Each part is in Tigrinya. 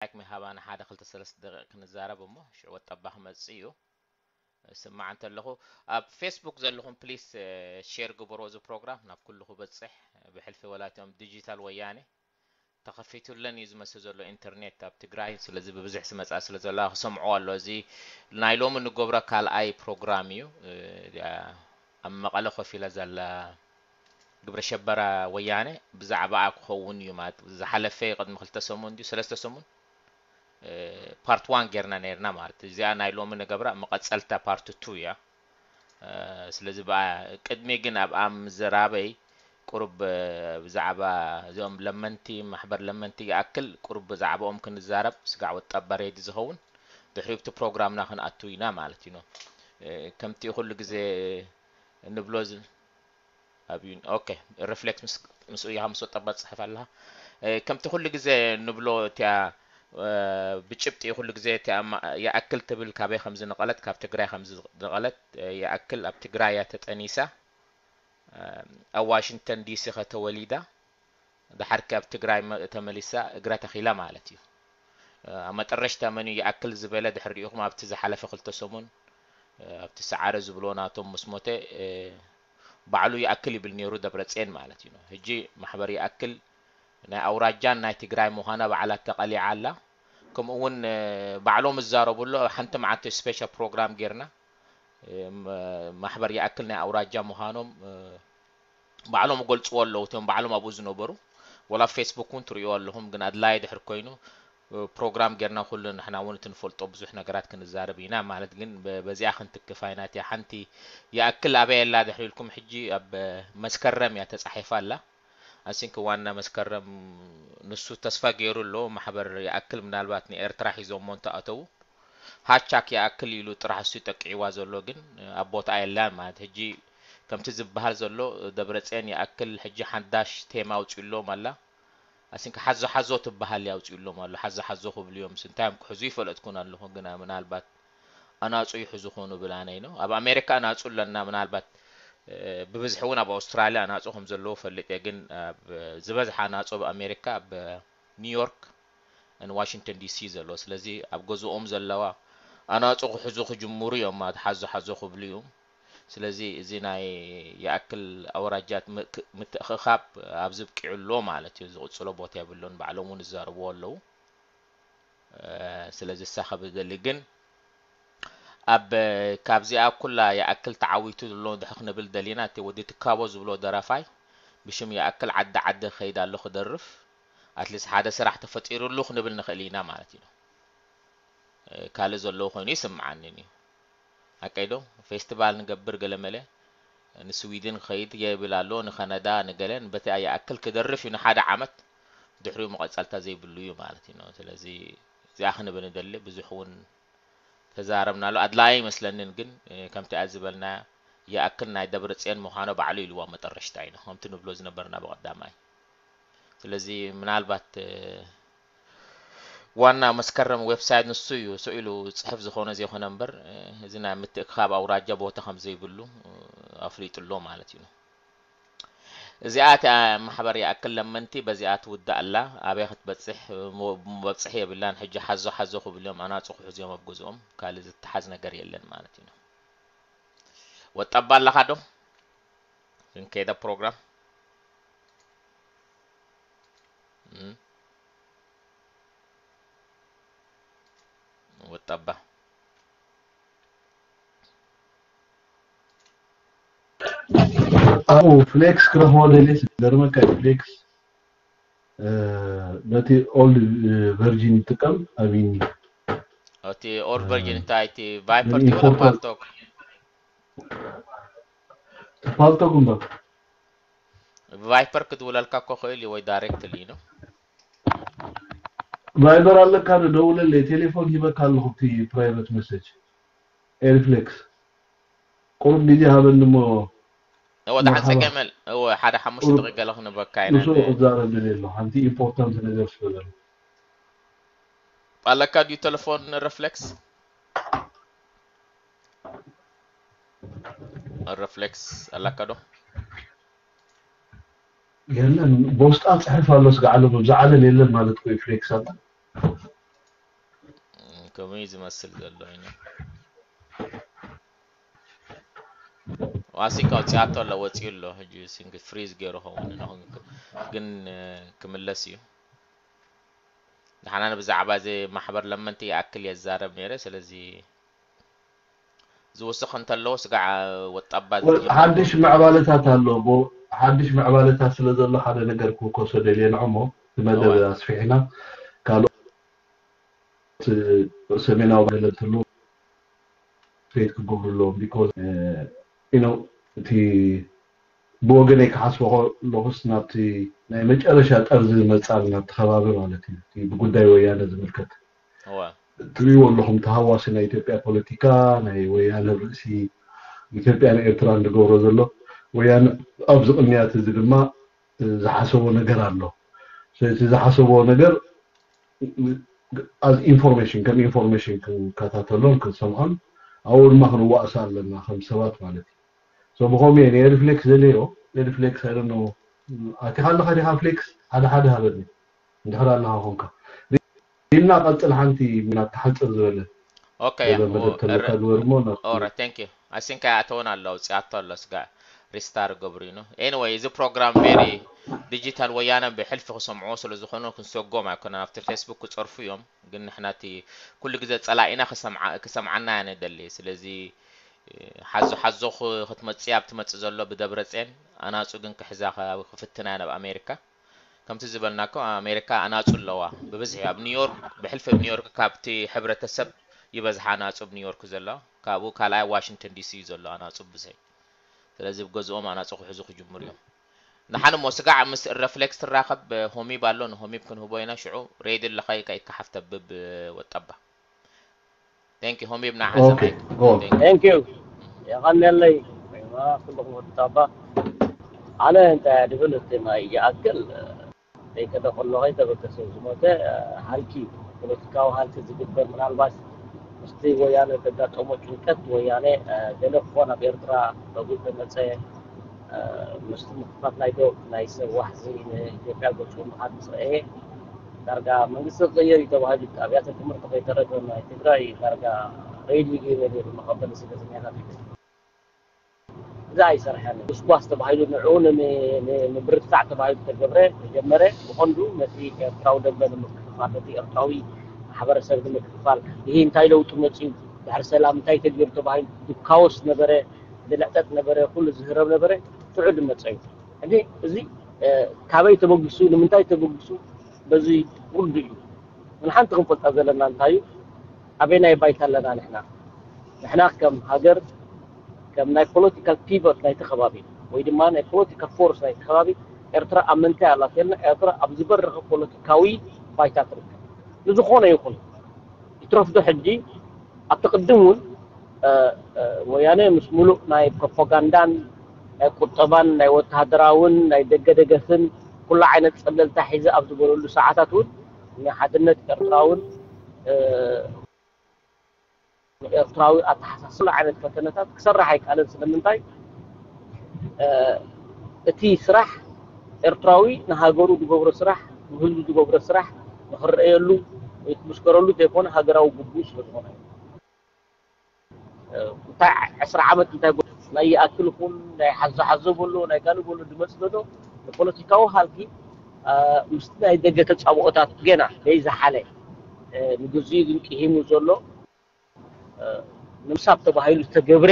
ማይክ ምሃባና ሓደ ክልተ ሰለስተ ደቂቕ ክንዛረብ እሞ ሽዑ ወጣባ ክመጽእ እዩ። ስማዕ እንተለኹ ኣብ ፌስቡክ ዘለኹም ፕሊስ ሼር ግበሮ። እዚ ፕሮግራም ናብ ኩሉ ክበጽሕ ብሕልፊ ወላቶም ዲጂታል ወያኔ ተኸፊቱለን እዩ ዝመስል ዘሎ ኢንተርኔት ኣብ ትግራይ። ስለዚ ብብዝሒ ዝመጽኣ ስለ ዘሎ ክሰምዖ ኣሎ። እዚ ናይ ሎሚ ንገብሮ ካልኣይ ፕሮግራም እዩ። ኣብ መቐለ ኮፍ ኢላ ዘላ ግብረ ሸበራ ወያነ ብዛዕባኣ ክኸውን እዩ ማለት ዝሓለፈ ቅድሚ ክልተ ሰሙን ድዩ ሰለስተ ሰሙን ፓርት ዋን ጌርና ነርና ማለት እዚኣ ናይ ሎሚ ንገብራ መቐጸልታ ፓርት ቱ እያ። ስለዚ ብኣ ቅድሚ ግን ኣብኣ ምዝራበይ ቁሩብ ብዛዕባ እዚኦም ለመንቲ ማሕበር ለመንቲ ይኣክል ቁሩብ ብዛዕባኦም ክንዛረብ ስጋዕ ወጣባ ሬዲ ዝኸውን ድሕሪብቲ ፕሮግራምና ክንኣቱ ኢና ማለት እዩ። ከምቲ ኩሉ ግዜ እንብሎ ዝ- ኣብ ዩን ኦኬ ሪፍሌክስ ምስ ምስኡ ኢኻ ምስ ወጣባ ትጽሕፍ ኣለኻ። ከምቲ ኩሉ ግዜ ንብሎ እቲያ ብጭብጢ ኩሉ ግዜ እቲያ ይኣክል ትብል ካበይ ከም ዝነቐለት ካብ ትግራይ ከም ዝነቐለት ይኣክል ኣብ ትግራይ እያ ተጠኒሳ። ኣብ ዋሽንግተን ዲሲ ከተወሊዳ ድሓር ካብ ትግራይ ተመሊሳ እግራ ተኺላ ማለት እዩ። ኣብ መጠረሽታ መን እዩ ይኣክል ዝበለ ድሕሪ ሪኢኹም ኣብቲ ዝሓለፈ ክልተ ሰሙን ኣብቲ ሰዓረ ዝብሎ ናቶም ምስ ሞተ ባዕሉ ይኣክል ይብል ነይሩ ደብረፅየን ማለት እዩ። ሕጂ ማሕበር ይኣክል ናይ ኣውራጃን ናይ ትግራይ ምዃና ባዕላ ተቐሊዓ ኣላ። ከምኡ እውን ባዕሎም ዝዛረቡ ኣሎ። ኣብ ሓንቲ መዓልቲ ስፔሻል ፕሮግራም ጌርና ማሕበር ይኣክል ናይ ኣውራጃ ምዃኖም ባዕሎም ይገልፅዎ ኣለዉ። እቶም ባዕሎም ኣብኡ ዝነበሩ ወላ ኣብ ፌስቡክ እውን ትርእይዎ ኣለኹም። ግን ኣድላይ ድሕር ኮይኑ ፕሮግራም ጌርና ኩሉ ንሕና እውን እቲ ንፈልጦ ብዙሕ ነገራት ክንዛረብ ኢና ማለት ግን በዚኣ ክንትክፍ ኣይናት እያ። ሓንቲ ይኣክል ኣበይ ኣላ ድሕሪ ኢልኩም ሕጂ ኣብ መስከረም እያ ተፃሒፋ ኣላ። ኣሲንክ ዋና መስከረም ንሱ ተስፋ ገይሩ ኣሎ ማሕበር ይኣክል ምናልባት ንኤርትራ ሒዞሞ እንተኣተዉ ሃቻክ ይኣክል ኢሉ ጥራሕ እሱ ጠቂዕዋ ዘሎ ግን ኣብ ቦታ የላን ማለት ሕጂ ከምቲ ዝበሃል ዘሎ ደብረፅየን ይኣክል ሕጂ ሓዳሽ ቴማ ኣውፅእሎም ኣላ። ኣሲንክ ሓዞ ሓዞ ትበሃል ኣውፅእሎም ኣሎ ሓዞ ሓዞ ክብሉ እዮም እንታይ እዮም ክሕዙ ይፈለጥኩን ኣለኹ ግና ምናልባት ኣናፁ ይሕዙ ኮኑ ብላነይ ነው ኣብ ኣሜሪካ ኣናፁ ኣለና ምናልባት ብብዝሒ እውን ኣብ ኣውስትራሊያ ኣናፁ ከም ዘለዎ ፈልጥ እየ ግን ዝበዝሓ ኣናፁ ኣብ ኣሜሪካ ኣብ ኒውዮርክ ን ዋሽንግተን ዲሲ ዘሎ ስለዚ ኣብ ገዝኦም ዘለዋ ኣናፁ ክሕዙ ክጅምሩ እዮም ማለት ሓዞ ሓዞ ክብሉ እዮም። ስለዚ እዚ ናይ ይኣክል ኣውራጃት ምትእኽኻብ ኣብ ዝብቂዑ ኣሎ ማለት እዩ ዝቕፅሎ ቦታ የብሉን ባዕሎም እውን ዝዛረብዎ ኣለዉ። ስለዚ እሳ ከብደሊ ግን ኣብ ካብዚኣ ኩላ ይኣክል ተዓዊቱ ዘሎ ድሕክ ንብል ደሊና እቲ ወዲ ትካቦ ዝብሎ ደራፋይ ብሽም ይኣክል ዓዲ ዓዲ ክኸይድ ኣሎ ክደርፍ ኣትሊስ ሓደ ስራሕ ተፈጢሩሉ ክንብል ንኽእል ኢና ማለት እዩ። ካልእ ዘለዎ ኮይኑ ይስምዓንን እዩ። ኣቀይዶ ፌስቲቫል ንገብር ገለመለ ንስዊድን ክኸይድ የብል ኣሎ ንካናዳ ንገለን በቲ ይኣክል ክደርፍ እዩ ንሓደ ዓመት ድሕሪኡ መቐፀልታ ዘይብሉ እዩ ማለት እዩ። ስለዚ እዚኣ ክንብል ንደሊ ብዙሕ እውን ተዛረብናሉ ኣድላይ ኣይመስለንን ግን ከምቲ ዝበልና ይኣክል ናይ ደብረፅየን ምዃኖ ባዕሉ ኢልዋ መጠረሽታ ኢና ከምቲ ንብሎ ዝነበርና ብቐዳማይ ስለዚ ምናልባት ዋና መስከረም ዌብሳይት ንሱ እዩ ስኢሉ ፅሕፍ ዝኾነ ዘይኮነ እምበር እዚ ናይ ምትእክኻብ ኣውራጃ ቦታ ከም ዘይብሉ ኣፍሊጡ ኣሎ ማለት እዩ። እዚኣ እቲኣ ማሕበር ይኣክል ለመንቲ በዚኣ ትውዳእ ኣላ ኣበይ ክትበፅሕ መብፅሒ የብላን ሕጂ ሓዞ ሓዞ ክብሉ እዮም ኣናፁ ክሕዙ እዮም ኣብ ገዝኦም ካልእ ዝተሓዝ ነገር የለን ማለት እዩ። ወጣባ ኣለኻ ዶ? ክንከይዳ ፕሮግራም ወጣባ ኣብኡ ፍሌክስ ክረኽቦ ደልየ ዝገርመካ እዩ ፍሌክስ በቲ ኦልድ ቨርጂን ይጥቀም ኣቢኒ እቲ ኦልድ ቨርጂን እንታይ እቲ ቫይፐር ትብሎ ፓልቶክ ፓልቶክ እምበር ቫይፐር ክድውለልካ እኮ ክእል እዩ ወይ ዳይሬክትሊ ነው ቫይበር ኣለካ ዶ ደውለለይ ቴሌፎን ሂበካ ኣለኹ እቲ ፕራይቨት መሰጅ ኤሪፍሌክስ ቁሩብ ግዜ ሃበኒ እሞ እወ ደሓን ጸገመል እወ ሓደ ሓሙሽተ ደቂ ገለ ክንበካ ኢና ንሱ ክዛረብ ደልየ ኣለኹ ሓንቲ ኢምፖርታንት ነገር ስለዘሎ ኣለካ ድዩ ቴሌፎን ረፍሌክስ ረፍሌክስ ኣለካ ዶ የለን በውስጣ ጽሕፍ ኣሎ ስጋዕ ኣሎ ብብዛዕለን የለን ማለት ኮ ፍሌክስ ኣላ ከምኡ እዩ ዝመስል ዘሎ። ዩ ዋሲካ ውፅኣቶ ኣሎ፣ ወፂኡ ኣሎ። ሕጂ ሲንግ ፍሪዝ ገይሩ ኸውን ግን ክምለስ እዩ። ንሓና ብዛዕባ እዚ ማሕበር ለመንቲ ይኣክል የዛረብ ነይረ። ስለዚ ዝውስኽ እንተለዎ ስጋዕ ወጣባ ሓድሽ ምዕባለታት ኣሎ። ሓድሽ ምዕባለታት ስለ ዘሎ ሓደ ነገር ክውከሶ ደልየ ንዕሞ መደብ ኣስፊሕና ካልኦት ሰሜናዊ ገለ እንተሎ ትሬት ክገብሩ ኣለዎም። ቢኮዝ እቲ ብወገነይ ክሓስቦ ከለኹስ ናብቲ ናይ መጨረሻ ጠርዚ ዝመፃል ናብቲ ከባቢ ማለት እዩ። ብጉዳይ ወያነ ዝምልከት ትሪእዎ ኣለኹም። ተሃዋሲ ናይ ኢትዮጵያ ፖለቲካ ናይ ወያነ ርእሲ ኢትዮጵያ ንኤርትራ እንድገብሮ ዘሎ ወያነ ኣብዚ ቅንያት እዚ ድማ ዝሓሰቦ ነገር ኣሎ። ስለዚ ዝሓሰቦ ነገር as information ከም information ክንከታተሎን ክንሰምዖን ኣብኡ ድማ ክንዋእሳ ኣለና ከም ሰባት ማለት እዩ። So ብኸምኡ እየ ናይ ሪፍሌክስ ዘለዮ ሪፍሌክስ ኣይደኖ ኣቲኻ ኣለኻ ዲኻ ፍሌክስ ሓደ ሓደ ሃበኒ እንድሕር ኣለኻ ኮንካ ሪምና ቀፅል ሓንቲ ናብ ተሓፅር ዝበለ Okay, ገለ መደብ ተለካ ግበር እሞ ናብ Alright, thank you. I think ኣይኣተወን ኣሎ፣ ውፅኣቶ ኣሎ፣ ስጋ ሪስታር ገብሩ እዩ። Anyway፣ እዚ ፕሮግራም very digital ወያነ ብሕልፊ ክሰምዕዎ ስለ ዝኾኑ ክንሰጎም ኣይኮነን። ኣብቲ ፌስቡክ ክፀርፉ እዮም፣ ግን ንሕና እቲ ኩሉ ግዜ ፀላኢና ክሰምዓ- ክሰምዓና እያ ንደሊ። ስለዚ ሓዞ ሓዞ ክ- ክትመፅእ ኣብ ትመፅእ ዘሎ ብደብረፅየን ኣናፁ ግን ክሕዛ ክፍትና እያ ናብ ኣሜሪካ። ከምቲ ዝበልናኩም ኣብ ኣሜሪካ ኣናፁ ኣለዋ ብብዝሒ ኣብ ኒውዮርክ ብሕልፊ ኣብ ኒውዮርክ ካብቲ ሕብረተሰብ ይበዝሓ ኣናፁ ኣብ ኒውዮርክ ዘሎ ካብኡ ካልኣይ ዋሽንግተን ዲሲ እዩ ዘሎ ኣናፁ ብዝሒ ስለዚ ብገዝኦም ኣናፁ ክሕዙ ክጅምሩ እዮም ንሓን እሞ ስጋዕ ምስ ረፍሌክስ ትራኸብ ሆሚብ ኣሎ ንሆሚብ ክንህቦ ኢና ሽዑ ሬድ ኣለኻ ኢካ ኢካ ሓፍተብብ ወጠባ Thank you ሆሚብ ንዓኻ Okay, ሰማይ go on. Thank you. Thank you የቐንየለይ ኩልኹም ወዲ ታባ ኣነ እንታይ ድብል እቲ ማይ ይኣክል ዘይከደ ከሎ ከይተበገሰ ዝሞተ ሃልኪ እዩ ፖለቲካዊ ሃልኪ ዝግበር ምናልባት ምስቲ ወያነ ዘጋጠሞ ጭንቀት ወያነ ገለ ክኾን ኣብ ኤርትራ ረጉድ ተመፀ ምስቲ ምኽፋት ናይ ዶብ ናይ ሰብ ዋሕዚ ንኢትዮጵያ ገፁ ምኻድ ምስ ረአየ ዳርጋ መንግስቲ ክቕየር እዩ ተባሂሉ ኣብያተ ትምህርቲ ከይተረፈ ናይ ትግራይ ዳርጋ ሬድዮ ገይሩ ነይሩ መቐበሊ ስደተኛታት እዩ። እዚ ኣይሰርሐን። ጉስጓስ ተባሂሉ ንዕኡ ንምብርትታዕ ተባሂሉ ተገብረ ተጀመረ ብቐንዱ ነቲ ኤርትራዊ ደንበ ንምክፍፋል ነቲ ኤርትራዊ ማሕበረሰብ ንምክፍፋል ይህ እንታይ ለውጢ መፅኡ ድሕሪ ሰላም እንታይ ተገይሩ ተባሂሉ ድካወስ ነበረ ድልዕጠጥ ነበረ ኩሉ ዝህረብ ነበረ ሽዑ ድመፀ እዩ። ሕጂ እዚ ካበይ ተበጊሱ ንምንታይ ተበጊሱ በዚ ውርዱ እዩ። ንሓንቲ ክንፈልጣ ዘለና እንታይ እዩ? ኣበይ ናይ ባይታ ኣለና ንሕና? ንሕና ከም ሃገር ከም ናይ ፖለቲካል ፒቨት ናይቲ ከባቢ ወይ ድማ ናይ ፖለቲካል ፎርስ ናይቲ ከባቢ ኤርትራ ኣብ ምንታይ ኣላ ተልና ኤርትራ ኣብ ዝበረኸ ፖለቲካዊ ባይታ ትርከብ። ንዝኾነ ይኹን ይትረፍዶ ሕጂ ኣብቲ ቅድም እውን ወያነ ምስ ሙሉእ ናይ ፕሮፓጋንዳን ናይ ቁጠባን ናይ ወተሃደራውን ናይ ደገ ደገፍን ኩሉ ዓይነት ፀብለልታ ሒዘ ኣብ ዝበለሉ ሰዓታት እውን ንሓድነት ኤርትራ እውን ኤርትራዊ ኣተሓሳስባ ዓይነት ፈተነታት ክሰርሕ ኣይከኣለን ስለምንታይ እቲ ስራሕ ኤርትራዊ ንሃገሩ ዝገብሮ ስራሕ ንህዝቡ ዝገብሮ ስራሕ ንክረኣየሉ ወይ ክምስከረሉ ዘይኮነ ሃገራዊ ግቡእ ስለዝኾነ እንታይ ዕስራ ዓመት እንታይ ናይ ይኣክልኩም ናይ ሓዞ ሓዞ በሎ ናይ ጋሉ በሎ ድመፅ ዘሎ ንፖለቲካዊ ሃልኪ ምስቲ ናይ ደገ ተፃብኦታት ገና ዘይዝሓለ ንግዚኡ ግን ቅሂሙ ዘሎ ንምሳብ ተባሂሉ ዝተገብረ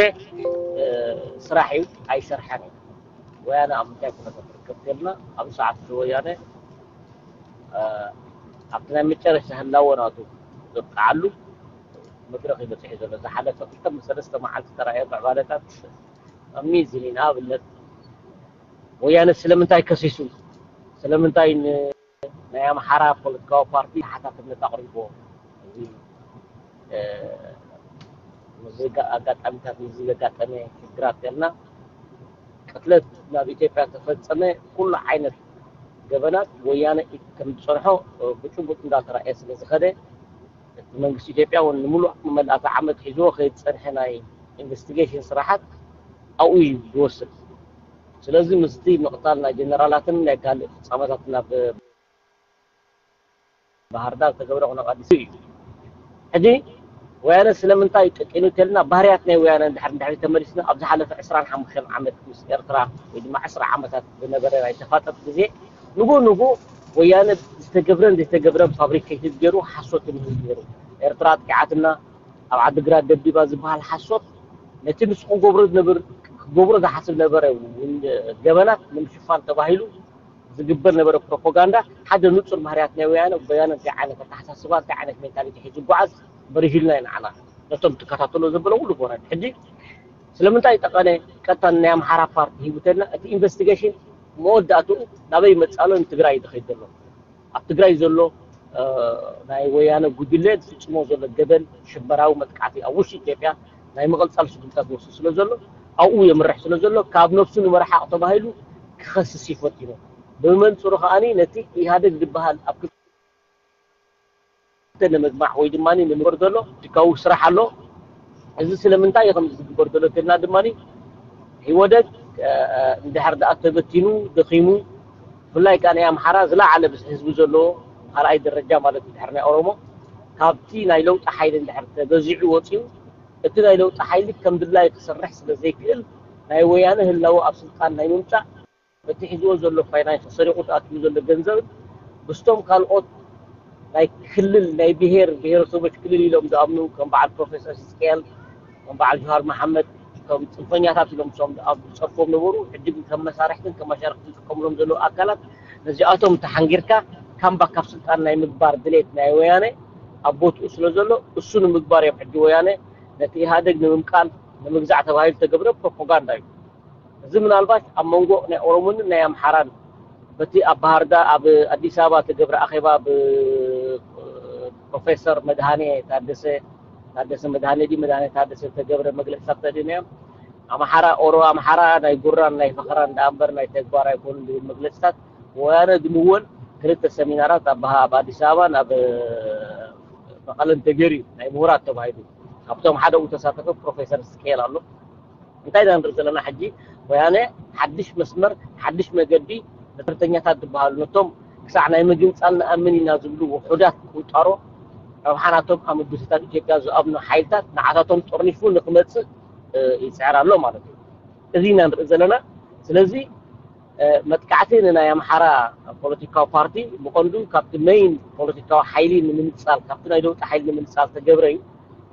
ስራሕ እዩ ኣይሰርሐን እዩ ወያነ ኣብ ምንታይ ኩነታት ትርከብ ተልና ኣብ ሰዓት ወያነ ኣብቲ ናይ መጨረሻ ህላወ ናቱ ዘብቅዓሉ መድረኽ እዩ በፂሑ ዘሎ ዝሓለፈ ክልተ ሰለስተ መዓልቲ ተራእዮ ምዕባለታት ኣሚዚን እዩ ንኣብነት ወያነ ስለምንታይ ከሲሱ ስለምንታይ ናይ ኣምሓራ ፖለቲካዊ ፓርቲ ተሓታትነት ኣቕሪቦ እዚ ኣጋጣሚታት እዚ ዘጋጠመ ሽግራት ገልና ቅትለት ናብ ኢትዮጵያ ተፈፀመ ኩሉ ዓይነት ገበናት ወያነ ከም ዝፀንሖ ብጭቡጥ እንዳተረኣየ ስለ ዝኸደ እቲ መንግስቲ ኢትዮጵያ እውን ንምሉእ መልኣተ ዓመት ሒዝዎ ከይፀንሐ ናይ ኢንቨስቲጌሽን ስራሓት ኣብኡ እዩ ዝወስድ ስለዚ ምስቲ ምቕታል ናይ ጀነራላትን ናይ ካልእ ፍፃመታትን ኣብ ባህርዳር ዝተገብረ ኩነ ኣዲስ እዩ። ሕጂ ወያነ ስለምንታይ ጠቂኑ ተልና ባህርያት ናይ ወያነ እንድሕር እንድሕር ተመሊስና ኣብ ዝሓለፈ ዕስራን ሓሙሽተን ዓመት ምስ ኤርትራ ወይ ድማ ዕስራ ዓመታት ዝነበረ ናይ ተፋጠጥ ግዜ ንጉ ንጉ ወያነ ዝተገብረን ዘይተገብረን ፋብሪኬትድ ገይሩ ሓሶት ንህዝቢ ገይሩ። ኤርትራ ኣጥቂዓትና፣ ኣብ ዓድግራት ደብዲባ ዝበሃል ሓሶት ነቲ ንሱ ክገብሮ ዝነብር ክገብሮ ዝሓስብ ነበረ ገበናት ንምሽፋን ተባሂሉ ዝግበር ነበረ ፕሮፓጋንዳ ሓደ ንጹር ባህርያት ናይ ወያነ። ወያነ እንታይ ዓይነት ኣተሓሳስባ እንታይ ዓይነት ሜንታሊቲ ሒዙ ይጓዓዝ በሪሂልና ኢና ንዓና ነቶም ትከታተሎ ዘበለ ኩሉ ኮነ ሕጂ ስለምንታይ ጠቐነ ቀጥታ ናይ ኣምሓራ ፓርቲ ሂቡተልና እቲ ኢንቨስቲጌሽን መወዳእትኡ ናበይ መጻሎ ንትግራይ እዩ ዝኸይድ ዘሎ። ኣብ ትግራይ ዘሎ ናይ ወያነ ጉጅለ ዝፍፅሞ ዘሎ ገበን ሽበራዊ መጥቃዕቲ ኣብ ውሽጢ ኢትዮጵያ ናይ ምቕልፃል ስጉምታት ዝወስድ ስለ ዘሎ ኣብኡ የምርሕ ስለ ዘሎ ካብ ነብሱ ንምርሓቕ ተባሂሉ ክኸስስ እዩ ፈቲኑ። ብመንፅሩ ከዓኒ ነቲ ኢህኣደግ ዝበሃል ኣብ ክልተ ንምግማዕ ወይ ድማ ንምግበር ዘሎ ፖለቲካዊ ስራሕ ኣሎ። እዚ ስለምንታይ እዩ ከምዚ ዝግበር ዘሎ ተልና ድማ ኢህወደግ እንድሕር ደኣ ተበቲኑ ደኺሙ ብፍላይ ከዓ ናይ ኣምሓራ ዝለዓለ ህዝቢ ዘለዎ ካልኣይ ደረጃ ማለት እንድሕር ናይ ኦሮሞ ካብቲ ናይ ለውጢ ሓይሊ እንድሕር ተገዚዑ ወፂኡ እቲ ናይ ለውጢ ሓይሊ ከም ድላይ ክሰርሕ ስለ ዘይክእል ናይ ወያነ ህላወ ኣብ ስልጣን ናይ ምምፃእ በቲ ሒዝዎ ዘሎ ፋይናንስ ሰሪቑ ዝኣትዉ ዘሎ ገንዘብ ምስቶም ካልኦት ናይ ክልል ናይ ብሄር ብሄረሰቦች ክልል ኢሎም ዝኣምኑ ከም በዓል ፕሮፌሰር ሕዝቅኤል ከም በዓል ጆሃር መሓመድ ከም ፅንፈኛታት ኢሎም ሶም ኣብ ዝፀርፎም ነበሩ ሕጂ ግን ከም መሳርሕትን ከም መሻርክትን ዝጥቀሙሎም ዘለዉ ኣካላት ነዚኣቶም ተሓንጊርካ ካምባክ ካብ ስልጣን ናይ ምግባር ድሌት ናይ ወያነ ኣብ ቦትኡ ስለ ዘሎ እሱ ንምግባር እዮም ሕጂ ወያነ ነቲ ኢህኣደግ ንምምቃል ንምግዛዕ ተባሂሉ ተገብረ ፕሮፓጋንዳ እዩ። እዚ ምናልባት ኣብ መንጎ ናይ ኦሮሞን ናይ ኣምሓራን በቲ ኣብ ባህርዳር ኣብ ኣዲስ ኣበባ ተገብረ ኣኼባ ብፕሮፌሰር መድሃኔ ታደሰ ታደሰ መድሃኔ ዲ መድሃኔ ታደሰ ተገብረ መግለፅታት ተድን እዮም ኣምሓራ ኦሮ ኣምሓራ ናይ ጉራን ናይ ፈኸራን ዳኣ እምበር ናይ ተግባር ኣይኮኑን ዝብል መግለፅታት ወያነ ዝምወል ክልተ ሰሚናራት ኣብ ኣብ ኣዲስ ኣበባን ኣብ መቐለን ተገይሩ ናይ ምሁራት ተባሂሉ ካብቶም ሓደ ተሳተፈ ፕሮፌሰር ስኬል ኣሎ እንታይ ኢና ንርኢ ዘለና ሕጂ ወያነ ሓድሽ መስመር ሓድሽ መገዲ ንጥርተኛታት ዝበሃሉ ነቶም ክሳዕ ናይ ምግንፃል ንኣምን ኢና ዝብሉ ውሑዳት ቁንጣሮ ረብሓ ናቶም ኣብ ምብትታን ኢትዮጵያ ዝኣምኑ ሓይልታት ንዓታቶም ጠርኒፉ ንክመፅእ ይፅዕር ኣሎ ማለት እዩ። እዚ ኢና ንርኢ ዘለና። ስለዚ መጥቃዕቲ ንናይ ኣምሓራ ፖለቲካዊ ፓርቲ ብቐንዱ ካብቲ መይን ፖለቲካዊ ሓይሊ ንምንፃል ካብቲ ናይ ለውጢ ሓይሊ ንምንፃል ተገብረ እዩ።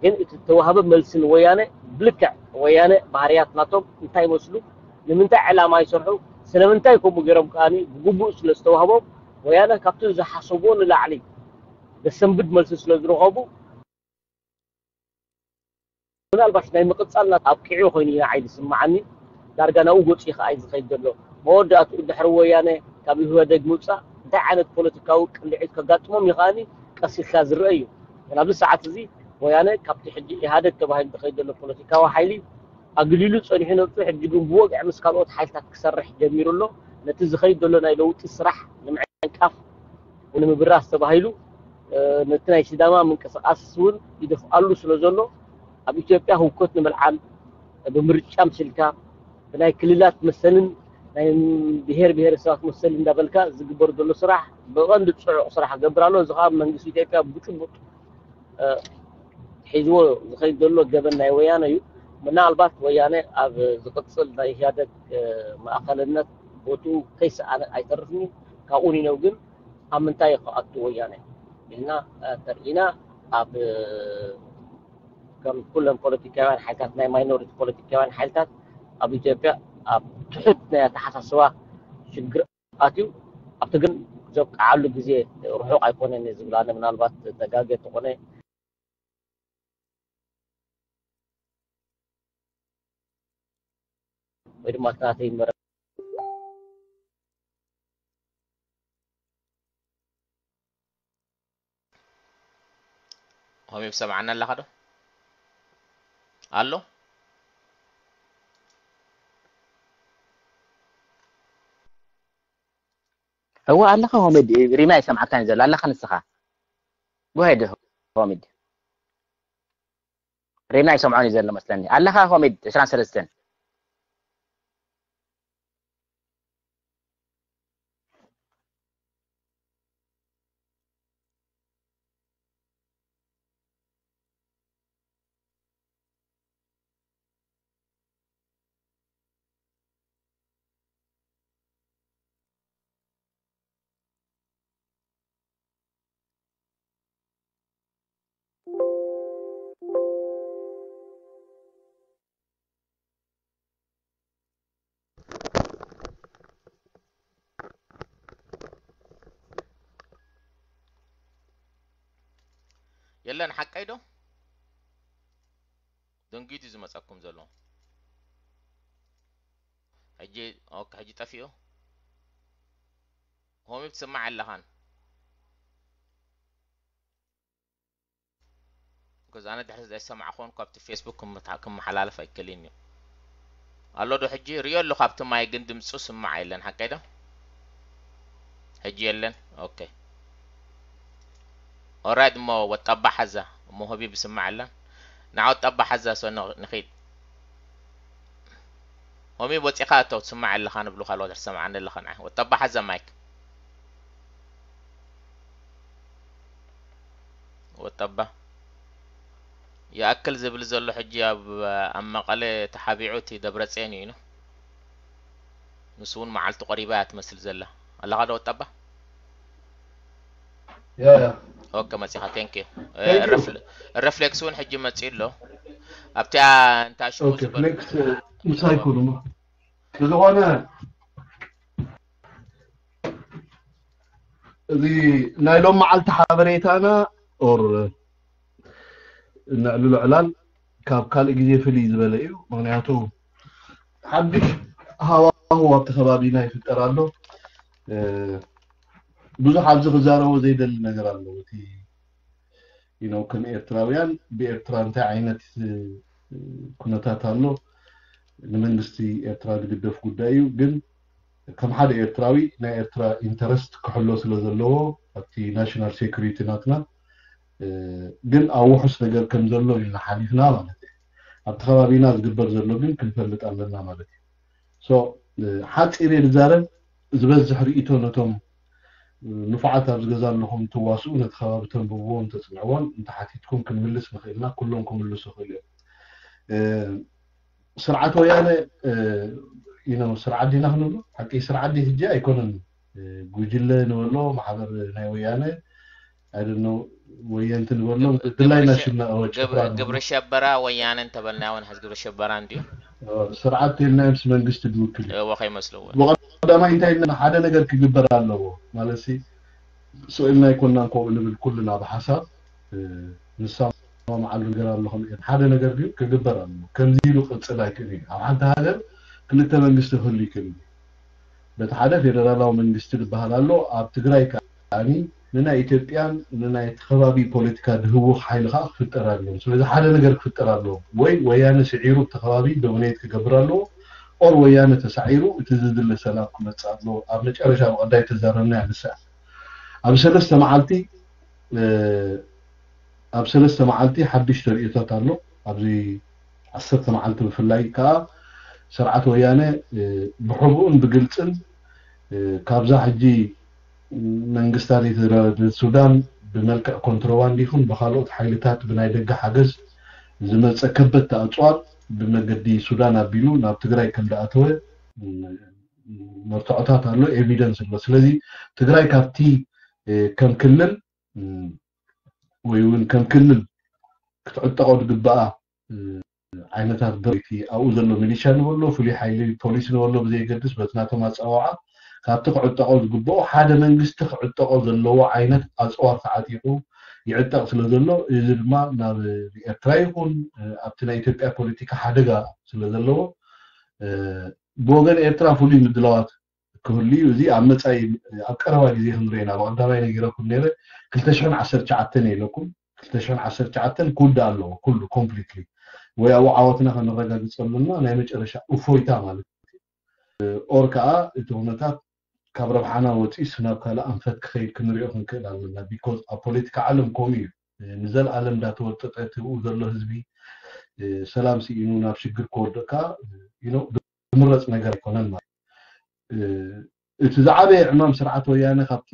ግን እቲ ዝተዋህበ መልሲ ንወያነ ብልክዕ ወያነ ባህርያት ናቶም እንታይ ይመስሉ ንምንታይ ዕላማ ይሰርሑ ስለምንታይ ከምኡ ገይሮም ከዓኒ ብግቡእ ስለ ዝተዋህቦም ወያነ ካብቲ ዝሓሰብዎ ንላዕሊ ዘሰንብድ መልሲ ስለ ዝረኸቡ ምናልባሽ ናይ ምቕፃል ናት ኣብቂዑ ኮይኑ ኢና ዓይዲ ስምዓኒ ዳርጋ ናብኡ ገፂ ከዓ እዩ ዝኸይድ ዘሎ መወዳእትኡ ድሕሪ ወያነ ካብ ኢህወደግ ምውፃእ እንታይ ዓይነት ፖለቲካዊ ቅልዒት ከጋጥሞም ይኸኣኒ ቀስ ኢልካ ዝረአ እዩ ግን ኣብዚ ሰዓት እዚ ወያነ ካብቲ ሕጂ ኢህኣደግ ተባሂሉ ዝኸይድ ዘሎ ፖለቲካዊ ሓይሊ ኣግሊሉ ፀኒሑ ነብሱ ሕጂ ግን ብወግዒ ምስ ካልኦት ሓይልታት ክሰርሕ ጀሚሩ ኣሎ ነቲ ዝኸይድ ዘሎ ናይ ለውጢ ስራሕ ንምዕንቃፍ ንምብራስ ተባሂሉ ነቲ ናይ ሲዳማ ምንቅስቃስ እውን ይደፍኣሉ ስለ ዘሎ ኣብ ኢትዮጵያ ህውከት ንምልዓል ብምርጫ ምሲልካ ብናይ ክልላት መሰልን ናይ ብሄር ብሄረሰባት መሰል እንዳበልካ ዝግበር ዘሎ ስራሕ ብቐንዲ ፅዑቕ ስራሕ ክገብር ኣሎ። እዚ ከዓ መንግስቲ ኢትዮጵያ ብጭቡጥ ሒዝዎ ዝኸይድ ዘሎ ገበን ናይ ወያነ እዩ። ምናልባት ወያነ ኣብ ዝቕፅል ናይ ኢህኣደግ ማእኸልነት ቦትኡ ከይሰኣነ ኣይተርፍን እዩ። ካብኡ ንነው ግን ኣብ ምንታይ ክኣቱ ወያነ ኢልና ተርኢና ኣብ ከም ኩለን ፖለቲካውያን ሓይልታት ናይ ማይኖሪቲ ፖለቲካውያን ሓይልታት ኣብ ኢትዮጵያ ኣብ ትሑት ናይ ኣተሓሳስባ ሽግር ኣትዩ ኣብቲ ግን ዘብቅዓሉ ግዜ ርሑቕ ኣይኮነን ዝብል ኣነ ምናልባት ተጋገ ተኾነ ወይ ድማ እቲ ናተይ መረ ሆሚብ ሰምዓና ኣለኻ ዶ ኣሎ እወ ኣለኻ ሆሚድ ሪምና ይሰምዓካን ዘሎ ኣለኻ ንስኻ ጎሄድ ሆሚድ ሪምና ይሰምዖን እዩ ዘሎ መስለኒ ኣለኻ ሆሚድ ዕስራን ሰለስተን የለን ሓቀይ ዶ? ደንጊት እዩ ዝመጸኩም ዘሎ። ሕጂ ኦኬ፣ ሕጂ ጠፊኡ። ሆሚ ትስማዕ ኣለኻን? ከዚ ኣነ ድሕሪ ዘይሰማዕ ኮን ካብቲ ፌስቡክ ክመሓላለፍ ኣይከልን እዩ። ኣሎ ዶ ሕጂ ሪኦ ኣሎ ካብቲ ማይ ግን ድምፁ ስማዕ የለን ሓቀይ ዶ? ሕጂ የለን። ኦኬ ኦራይት እሞ ወጣባ ሓዛ እሞ ሆቢ ብስማዕ ኣለን። ንዓ ወጣባ ሓዛ ሶ ንኺድ። ሆሚ ወፂኻ እቶ ትስማዕ ኣለኻ ንብሉ ካልኦት ትሰማዓኒ ኣለኻ ንዓ ወጣባ ሓዛ ማይክ። ወጣባ ይኣክል ዝብል ዘሎ ሕጂ ኣብ ኣብ መቐለ ተሓቢዑ እቲ ደብረፅዮን እዩ ኢሉ። ንሱ እውን መዓልቱ ቀሪባ እያ ትመስል ዘላ። ኣለኻ ዶ ወጣባ? Yeah, yeah. ኦኬ መፂኻ። Thank you። Thank you. ረፍሌክስ እውን ሕጂ መፂኡ ኣሎ። ኣብቲኣ እንታይ ሽሙ Okay, ዝበል flex ምሳይ ኩሉ ብዝኾነ እዚ ናይ ሎም መዓልቲ ሓበሬታና or ነዕልሎ ዕላል ካብ ካልእ ግዜ ፍልይ ዝበለ እዩ። ምክንያቱ ሓድሽ ሃዋሁ ኣብቲ ከባቢና ይፍጠር ኣሎ። ብዙሕ ኣብዚ ክዛረቦ ዘይደሊ ነገር ኣሎ። እቲ you know ከም ኤርትራውያን ብኤርትራ እንታይ ዓይነት ኩነታት ኣሎ ንመንግስቲ ኤርትራ ዝግደፍ ጉዳይ እዩ። ግን ከም ሓደ ኤርትራዊ ናይ ኤርትራ ኢንተረስት ክሕሎ ስለ ዘለዎ ኣብቲ ናሽናል ሴኩሪቲ ናትና ግን ኣብ ውሑስ ነገር ከም ዘሎ ኢና ሓሊፍና ማለት እዩ። ኣብቲ ከባቢና ዝግበር ዘሎ ግን ክንፈልጥ ኣለና ማለት እዩ። So ሓፂር እየ ዝዛረብ። ዝበዝሕ ርእይቶ ነቶም ንፉዓት ኣብዚ ገዛ ኣለኹም ትዋስኡ ነቲ ከባቢ ተንብብዎን ተፅንዕዎን እንተሓቲትኩም ክንምልስ ንኽእልና ኩሎም ክምልሱ ይኽእሉ እዮም። ስርዓት ወያነ you know ስርዓት ዲና ክንብሎ ሓቂ ስርዓት ዲ ሕጂ ኣይኮነን። ጉጅለ ንበሎ ማሕበር ናይ ወያነ I don't know ወየንቲ ንበሎ ድላይና ሽም ጭፍራ ንበሎ። ግብረ ሸበራ ወያነ እንተበልና እውን ሕዚ ግብረ ሸበራ እንድዩ። ስርዓት ተልና ምስ መንግስቲ ዝውክል እዩ። እወ ከይመስልዎ ብቐዳማይ እንታይ ኢልና ሓደ ነገር ክግበር ኣለዎ ማለት ሲ ስእልና ኣይኮናን ከምኡ ንብል ኩልና ብሓሳብ ንሳ መዓሉ ነገር ኣለኹም እዮም ሓደ ነገር ግን ክግበር ኣለዎ። ከምዚ ኢሉ ቅፅል ኣይክእል እዩ። ኣብ ሓንቲ ሃገር ክልተ መንግስቲ ክህሉ ይክእል እዩ። በቲ ሓደ ፌደራላዊ መንግስቲ ዝበሃል ኣሎ። ኣብ ትግራይ ከዓኒ ንናይ ኢትዮጵያን ንናይ እቲ ከባቢ ፖለቲካ ድህውኽ ሓይሊ ከዓ ክፍጠር ኣለዎ። ስለዚ ሓደ ነገር ክፍጠር ኣለዎ። ወይ ወያነ ስዒሩ እቲ ከባቢ ዶሚኔት ክገብር ኣለዎ። ኦር ወያነ ተሳዒሩ እቲ ዝድለ ሰላም ክመፅእ ኣለዎ። ኣብ መጨረሻ ብቐዳይ ተዛረብና ንሳ ኣብ ሰለስተ መዓልቲ ኣብ ሰለስተ መዓልቲ ሓድሽ ተርእዮታት ኣሎ። ኣብዚ ዓሰርተ መዓልቲ ብፍላይ ከዓ ስርዓት ወያነ ብሕቡእን ብግልፅን ካብዛ ሕጂ መንግስታት ሱዳን ብመልክዕ ኮንትሮባንድ ይኹን ብካልኦት ሓይልታት ብናይ ደገ ሓገዝ ዝመፀ ከበድቲ ኣፅዋር ብመገዲ ሱዳን ኣቢሉ ናብ ትግራይ ከም ዝኣተወ መርትዖታት ኣሎ፣ ኤቪደንስ ኣሎ። ስለዚ ትግራይ ካብቲ ከም ክልል ወይ እውን ከም ክልል ክትዕጠቆ ዝግበኣ ዓይነታት ብረይቲ ኣብኡ ዘሎ ሚሊሻ ንበሎ ፍሉይ ሓይሊ ፖሊስ ንበሎ ብዘየገድስ በቲ ናቶም ኣፀዋውዓ ካብቲ ክዕጠቆ ዝግበኦ ሓደ መንግስቲ ክዕጠቆ ዘለዎ ዓይነት ኣፅዋር ተዓጢቁ ይዕጠቕ ስለ ዘሎ እዚ ድማ ናብ ኤርትራ ይኹን ኣብቲ ናይ ኢትዮጵያ ፖለቲካ ሓደጋ ስለ ዘለዎ ብወገን ኤርትራ ፍሉይ ምድላዋት ክህሉ እዩ። እዚ ኣብ መፃኢ ኣብ ቀረባ ግዜ ክንሪኦ ኢና። ብቐዳማይ ነጊረኩም ነይረ ክልተ ሽሕን ዓሰርተ ትሽዓተን ኢለኩም ክልተ ሽሕን ዓሰርተ ትሽዓተን ክውዳእ ኣለዎ ኩሉ ኮምፕሊትሊ ወይ ኣብኡ ዓወትና ከነረጋግፀሉ እና ናይ መጨረሻ እፎይታ ማለት እዩ። ኦር ከዓ እቲ ኩነታት ካብ ረብሓና ወፂስ ናብ ካልእ ኣንፈት ክኸይድ ክንሪኦ ክንክእል ኣለና። ቢኮዝ ኣብ ፖለቲካ ዓለም ከምኡ እዩ። ንዘለኣለም እንዳተወጠጠ እቲ ብኡ ዘሎ ህዝቢ ሰላም ስኢኑ ናብ ሽግር ክወድቕ ከዓ ዝምረፅ ነገር ኣይኮነን ማለት እዩ። እቲ ዝዓበየ ዕማም ስርዓት ወያነ ካብቲ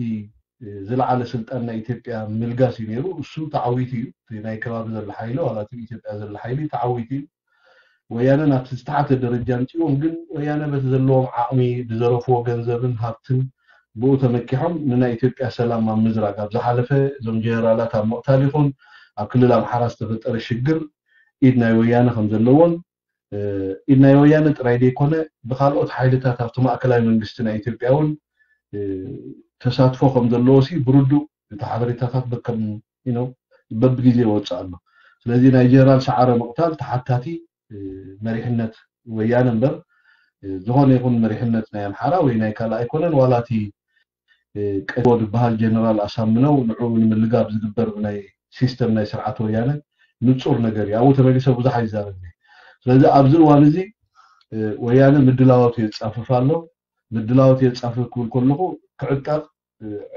ዝለዓለ ስልጣን ናይ ኢትዮጵያ ምልጋስ እዩ ነይሩ። እሱ ተዓዊቱ እዩ። እቲ ናይ ከባቢ ዘሎ ሓይሊ ዋላ እቲ ኢትዮጵያ ዘሎ ሓይሊ ተዓዊቱ እዩ። ወያነ ናብቲ ዝተሓተ ደረጃ ኣምፅዎም ግን ወያነ በቲ ዘለዎም ዓቕሚ ብዘረፍዎ ገንዘብን ሃብትን ብኡ ተመኪሖም ንናይ ኢትዮጵያ ሰላም ኣብ ምዝራግ ኣብ ዝሓለፈ እዞም ጀነራላት ኣብ ምቕታል ይኹን ኣብ ክልል ኣምሓራ ዝተፈጠረ ሽግር ኢድ ናይ ወያነ ከም ዘለዎን ኢድ ናይ ወያነ ጥራይ ዘይኮነ ብካልኦት ሓይልታት ኣብቲ ማእከላይ መንግስቲ ናይ ኢትዮጵያ እውን ተሳትፎ ከም ዘለዎ ሲ ብርዱእ እቲ ሓበሬታታት በከም you know በብግዜ ይወፅእ ኣሎ። ስለዚ ናይ ጀነራል ሰዓረ ምቕታል ተሓታቲ መሪሕነት ወያነ እምበር ዝኾነ ይኹን መሪሕነት ናይ ኣምሓራ ወይ ናይ ካልእ ኣይኮነን። ዋላ እቲ ቀድሞ ዝበሃል ጀነራል ኣሳምነው ንዕኡ ንምልጋብ ዝግበር ናይ ሲስተም ናይ ስርዓት ወያነ ንፁር ነገር እዩ። ኣብኡ ተመሊሰ ብዙሕ ኣይዛረብን። ስለዚ ኣብዚ እዋን እዚ ወያነ ምድላዋቱ የፃፍፍ ኣሎ። ምድላዋቱ የፃፍፍ ክብል ከለኹ ክዕጠቕ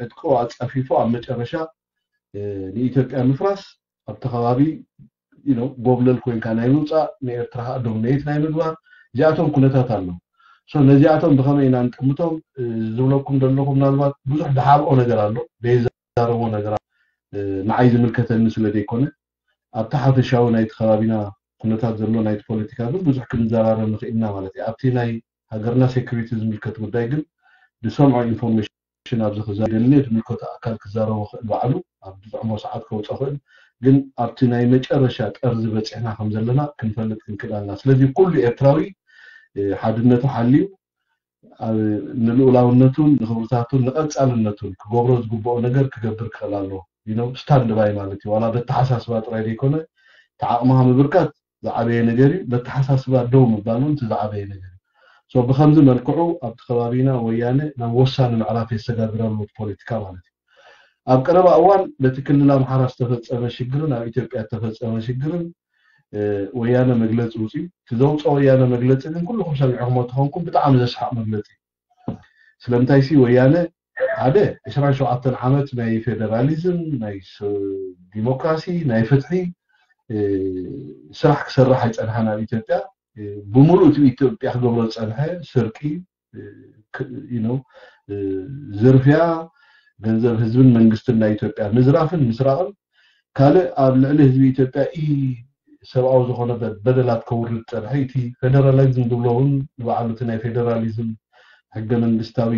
ዕጥቁ ኣፃፊፉ ኣብ መጨረሻ ንኢትዮጵያ ምፍራስ ኣብቲ ከባቢ ጎብለል ኮይንካ ናይ ምውፃእ ንኤርትራ ከዓ ዶሚኔት ናይ ምግባር እዚኣቶም ኩነታት ኣለዉ። ነዚኣቶም ብኸመይ ኢና ንጥምቶም ዝብለኩም ዘለኹ ምናልባት ብዙሕ ድሓብኦ ነገር ኣሎ ዘይዛረቦ ነገር ንዓይ ዝምልከተኒ ስለ ዘይኮነ ኣብቲ ሓፈሻዊ ናይቲ ከባቢና ኩነታት ዘሎ ናይቲ ፖለቲካ ግን ብዙሕ ክንዘራረብ ንኽእልና ማለት እዩ። ኣብቲ ናይ ሃገርና ሴኩሪቲ ዝምልከት ጉዳይ ግን ዝሰምዖ ኢንፎርሜሽን ሽን ኣብዚ ክዛረብ ደሊ ዝምልከቶ ኣካል ክዛረቦ ክእል ባዕሉ ኣብ ዝጥዕሞ ሰዓት ከውፅኦ ክእል ግን ኣብቲ ናይ መጨረሻ ጠርዚ በፂሕና ከም ዘለና ክንፈልጥ ክንክእል ኣለና። ስለዚ ኩሉ ኤርትራዊ ሓድነቱ ሓልዩ ንልኡላውነቱን ንኽብርታቱን ንቐፃልነቱን ክገብሮ ዝግብኦ ነገር ክገብር ክኽእል ኣለዎ። ስታንድ ባይ ማለት እዩ። ዋላ በተሓሳስባ ጥራይ ዘይኮነ ተዓቕምኻ ምብርካት ዝዓበየ ነገር እዩ። በተሓሳስባ ደው ምባል እውን እቲ ዝዓበየ ነገር እዩ። ብከምዚ መልክዑ ኣብቲ ከባቢና ወያነ ናብ ወሳኒ ምዕራፍ የሰጋግር ኣሎ ፖለቲካ ማለት እዩ። ኣብ ቀረባ እዋን በቲ ክልል ኣምሓራ ዝተፈፀመ ሽግርን ኣብ ኢትዮጵያ ዝተፈፀመ ሽግርን ወያነ መግለፂ ውፅዩ። እቲ ዘውፅኦ ወያነ መግለፂ ግን ኩልኩም ሰሚዕኹሞ ተኾንኩም ብጣዕሚ ዘስሓቕ መግለፂ። ስለምንታይ ሲ ወያነ ሓደ ዕስራን ሸውዓተን ዓመት ናይ ፌደራሊዝም ናይ ዲሞክራሲ ናይ ፍትሒ ስራሕ ክሰርሕ ኣይፀንሓን ኣብ ኢትዮጵያ። ብምሉእ እቲ ኢትዮጵያ ክገብሮ ዝፀንሐ ስርቂ፣ ዝርፍያ፣ ገንዘብ ህዝብን መንግስትን ናይ ኢትዮጵያ ምዝራፍን ምስራቕን ካልእ ኣብ ልዕሊ ህዝቢ ኢትዮጵያ ኢ ሰብኣዊ ዝኾነ በደላት ከውርድ ፀንሐ። እቲ ፌደራሊዝም ዝብሎ እውን ንባዕሉ እቲ ናይ ፌደራሊዝም ሕገ መንግስታዊ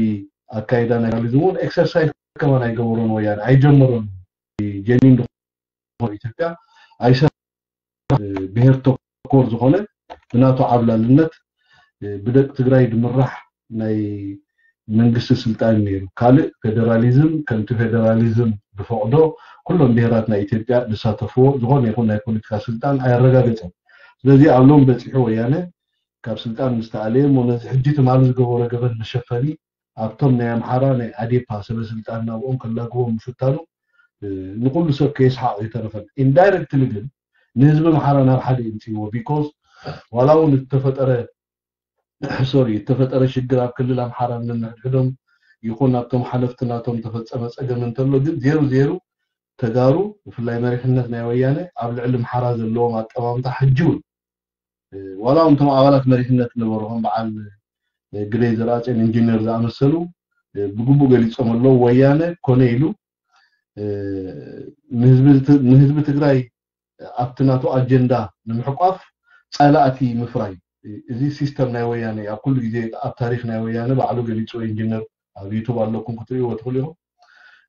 ኣካይዳ ናይ ፌደራሊዝም እውን ኤክሰርሳይዝ ከማን ኣይገበሮን ወያነ ኣይጀመሮን። ጀኒን ዝኾነ ኢትዮጵያ ኣይሰ ብሄር ተኮር ዝኾነ ብናቱ ዓብላልነት ብደቂ ትግራይ ድምራሕ ናይ መንግስቲ ስልጣን ነይሩ። ካልእ ፌደራሊዝም ከምቲ ፌደራሊዝም ብፈቕዶ ኩሎም ብሄራት ናይ ኢትዮጵያ ዝሳተፍዎ ዝኾነ ይኹን ናይ ፖለቲካ ስልጣን ኣየረጋገፀን። ስለዚ ኣብ ሎም በፂሑ ወያነ ካብ ስልጣን ምስ ተኣለየ እሞ ነዚ ሕጂ ትማሊ ዝገበሮ ገበን መሸፈኒ ኣብቶም ናይ ኣምሓራ ናይ ኣዴፓ ሰበ ስልጣን ናብኦም ከላግቦም ምፍታኑ ንኩሉ ሰብ ከየስሓቕ ኣይተረፈን። ኢንዳይረክትሊ ግን ንህዝቢ ኣምሓራ ናብ ሓደ ይምፅእዎ። ቢኮዝ ዋላ እውን ዝተፈጠረ ሶሪ ዝተፈጠረ ሽግር ኣብ ክልል ኣምሓራ ነንሕድሕዶም ይኹን ኣብቶም ሓለፍቲ ናቶም ተፈፀመ ፀገም እንተሎ ግን ዜሩ ዜሩ ተጋሩ ብፍላይ መሪሕነት ናይ ወያነ ኣብ ልዕሊ ኣምሓራ ዘለዎም ኣጠማምታ ሕጂ እውን ዋላ እውን እቶም ኣባላት መሪሕነት ነበሩ ከም በዓል ግደይ ዘርኣፅዮን ኢንጂነር ዝኣመሰሉ ብግቡእ ገሊፆም ኣለዉ። ወያነ ኮነ ኢሉ ንህዝቢ ትግራይ ኣብቲ ናቱ ኣጀንዳ ንምሕቋፍ ፀላእቲ ምፍራይ። እዚ ሲስተም ናይ ወያነ ኣብ ኩሉ ግዜ ኣብ ታሪክ ናይ ወያነ ባዕሉ ገሊፅዎ ኢንጂነር ኣብ ዩቱብ ኣለኩም ክትርእይዎ ትኽእሉ ኢኹም።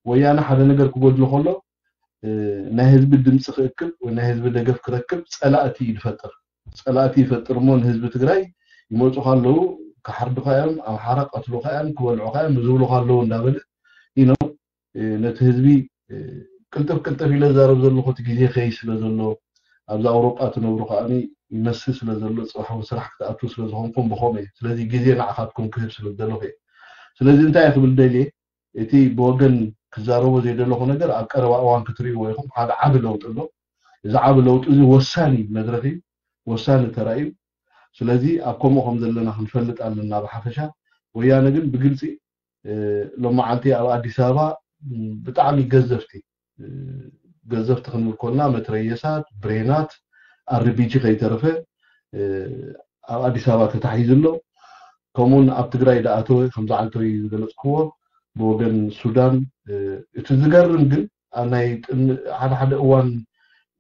ወያነ ሓደ ነገር ክጎድሎ ከሎ ናይ ህዝቢ ድምፂ ክእክብ ወይ ናይ ህዝቢ ደገፍ ክረክብ ፀላእቲ እዩ ዝፈጥር። ፀላእቲ ይፈጥር እሞ ንህዝቢ ትግራይ ይመፁ ከለዉ ክሓርዱካ እዮም፣ ኣምሓራ ቀትሉካ እዮም፣ ክበልዑካ እዮም ዝብሉ ከለዉ እንዳበለ ኢኖ ነቲ ህዝቢ ቅልጥፍ ቅልጥፍ ኢለ ዛረብ ዘለኹ እቲ ግዜ ከይ ስለ ዘሎ ኣብዚ ኣውሮጳ ትነብሩ ከዓ ይመስል ስለ ዘሎ ፅባሕ እውን ስራሕ ክትኣትዉ ስለ ዝኾንኩም ብኸምኡ እየ። ስለዚ ግዜ ንዓኻትኩም ክህብ ስለ ዝደለኹ እየ። ስለዚ እንታይ እየ ክብል ደልየ እቲ ብወገን ክዛረቦ ዘይደለኹ ነገር ኣብ ቀረባ እዋን ክትርእይዎ ኢኹም። ሓደ ዓቢ ለውጢ ኣሎ። እዚ ዓቢ ለውጢ እዚ ወሳኒ መድረኽ እዩ፣ ወሳኒ ተራ እዩ። ስለዚ ኣብ ከምኡ ከም ዘለና ክንፈልጥ ኣለና ብሓፈሻ። ወያነ ግን ብግልፂ ሎም መዓልቲ ኣብ ኣዲስ ኣበባ ብጣዕሚ ገዘፍቲ ገዘፍቲ ክንብል ኮልና መትረየሳት፣ ብሬናት፣ ኣርቢጂ ከይተረፈ ኣብ ኣዲስ ኣበባ ተታሒዙ ኣሎ። ከምኡውን ኣብ ትግራይ ዝኣተወ ከምዚ ዓልተይ ዝገለፅክዎ ብወገን ሱዳን። እቲ ዝገርም ግን ኣብ ናይ ሓደ ሓደ እዋን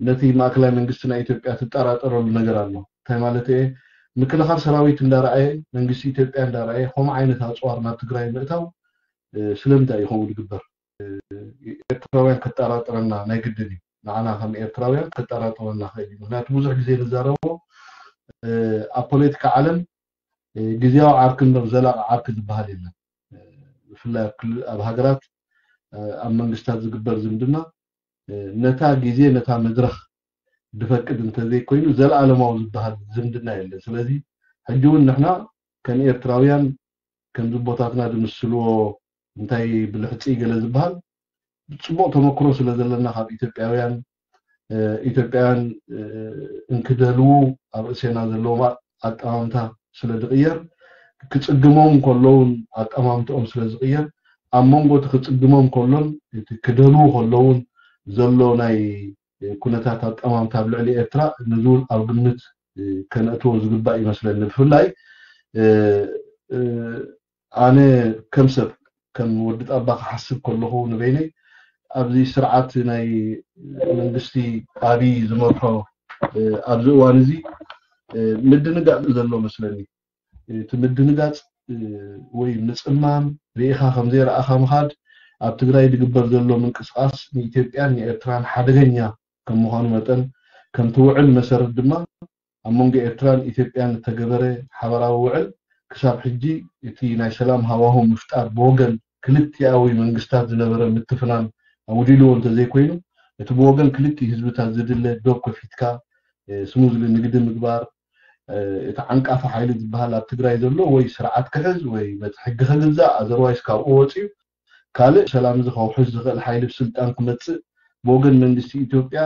ነቲ ማእከላይ መንግስቲ ናይ ኢትዮጵያ ትጠራጠረሉ ነገር ኣሎ። እንታይ ማለት እየ? ምክልኻል ሰራዊት እንዳረኣየ መንግስቲ ኢትዮጵያ እንዳረኣየ ከምኡ ዓይነት ኣፅዋር ናብ ትግራይ ምእታው ስለምንታይ እዩ ከምኡ ዝግበር? ኤርትራውያን ከጠራጥረና ናይ ግድን እዩ። ንዓና ከም ኤርትራውያን ከጠራጥረና ክእል እዩ። ምክንያቱ ብዙሕ ግዜ ንዛረቦ ኣብ ፖለቲካ ዓለም ግዜያዊ ዓርኪ እምበር ዘላቂ ዓርኪ ዝበሃል የለን። ብፍላይ ኣብ ሃገራት ኣብ መንግስታት ዝግበር ዝምድና ነታ ግዜ ነታ መድረኽ ድፈቅድ እንተዘይኮይኑ ዘለኣለማዊ ዝበሃል ዝምድና የለን። ስለዚ ሕጂ እውን ንሕና ከም ኤርትራውያን ከምዚ ቦታትና ዝምስልዎ እንታይ ብልሕፂ ገለ ዝበሃል ፅቡቕ ተመክሮ ስለ ዘለና ካብ ኢትዮጵያውያን ኢትዮጵያውያን እንክደልዉ ኣብ ርእሴና ዘለዎም ኣጠማምታ ስለ ዝቕየር ክፅግሞም ከለውን ኣጠማምትኦም ስለ ዝቕየር ኣብ መንጎ እቲ ክፅግሞም ከሎን እቲ ክደልዉ ከለውን ዘሎ ናይ ኩነታት ኣጠማምታ ኣብ ልዕሊ ኤርትራ ንዝውን ኣብ ግምት ከነእትዎ ዝግባእ ይመስለኒ። ብፍላይ ኣነ ከም ሰብ ከም ወዲ ጣባ ክሓስብ ከለኹ ንበይነይ ኣብዚ ስርዓት ናይ መንግስቲ ኣብይ ዝመርሖ ኣብዚ እዋን እዚ ምድንጋጽ ዘሎ መስለኒ። እቲ ምድንጋጽ ወይ ምጽማም ርኢኻ ከም ዘይረኣኻ ምኻድ ኣብ ትግራይ ዝግበር ዘሎ ምንቅስቃስ ንኢትዮጵያን ንኤርትራን ሓደገኛ ከም ምዃኑ መጠን ከምቲ ውዕል መሰረት ድማ ኣብ መንጎ ኤርትራን ኢትዮጵያን እተገበረ ሓበራዊ ውዕል ክሳብ ሕጂ እቲ ናይ ሰላም ሃዋሁ ምፍጣር ብወገን ክልቲኣዊ መንግስታት ዝነበረ ምትፍናን ኣውዲልዎ እንተዘይኮይኑ እቲ ብወገን ክልቲኡ ህዝብታት ዝድለ ዶብ ከፊትካ ስሙዝሊ ንግዲ ምግባር እቲ ዓንቃፊ ሓይሊ ዝበሃል ኣብ ትግራይ ዘሎ ወይ ስርዓት ክሕዝ ወይ በቲ ሕጊ ክግዛእ ኣዘርዋይስ ካብኡ ወፂኡ ካልእ ሰላም እዚ ከውሕስ ዝኽእል ሓይሊ ብስልጣን ክመፅእ ብወገን መንግስቲ ኢትዮጵያ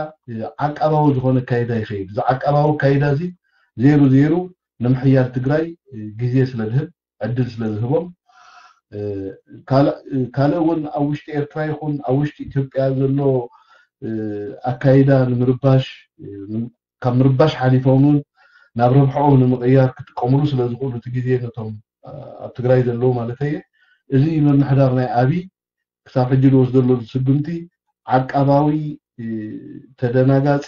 ዓቃባዊ ዝኾነ ኣካይዳ ይኸይድ። እዚ ዓቃባዊ ኣካይዳ እዚ ዜሩ ዜሩ ንምሕያል ትግራይ ግዜ ስለ ዝህብ ዕድል ስለ ዝህቦም ካልእ እውን ኣብ ውሽጢ ኤርትራ ይኹን ኣብ ውሽጢ ኢትዮጵያ ዘሎ ኣካይዳ ንምርባሽ ካብ ምርባሽ ሓሊፎም እውን ናብ ረብሕኦም ንምቕያር ክጥቀምሉ ስለ ዝኽእሉ እቲ ግዜ ነቶም ኣብ ትግራይ ዘለዉ ማለት እየ እዚ ምምሕዳር ናይ ኣብይ ክሳብ ሕጂ ዝወስደሉ ስጉምቲ ዓቃባዊ ተደናጋፂ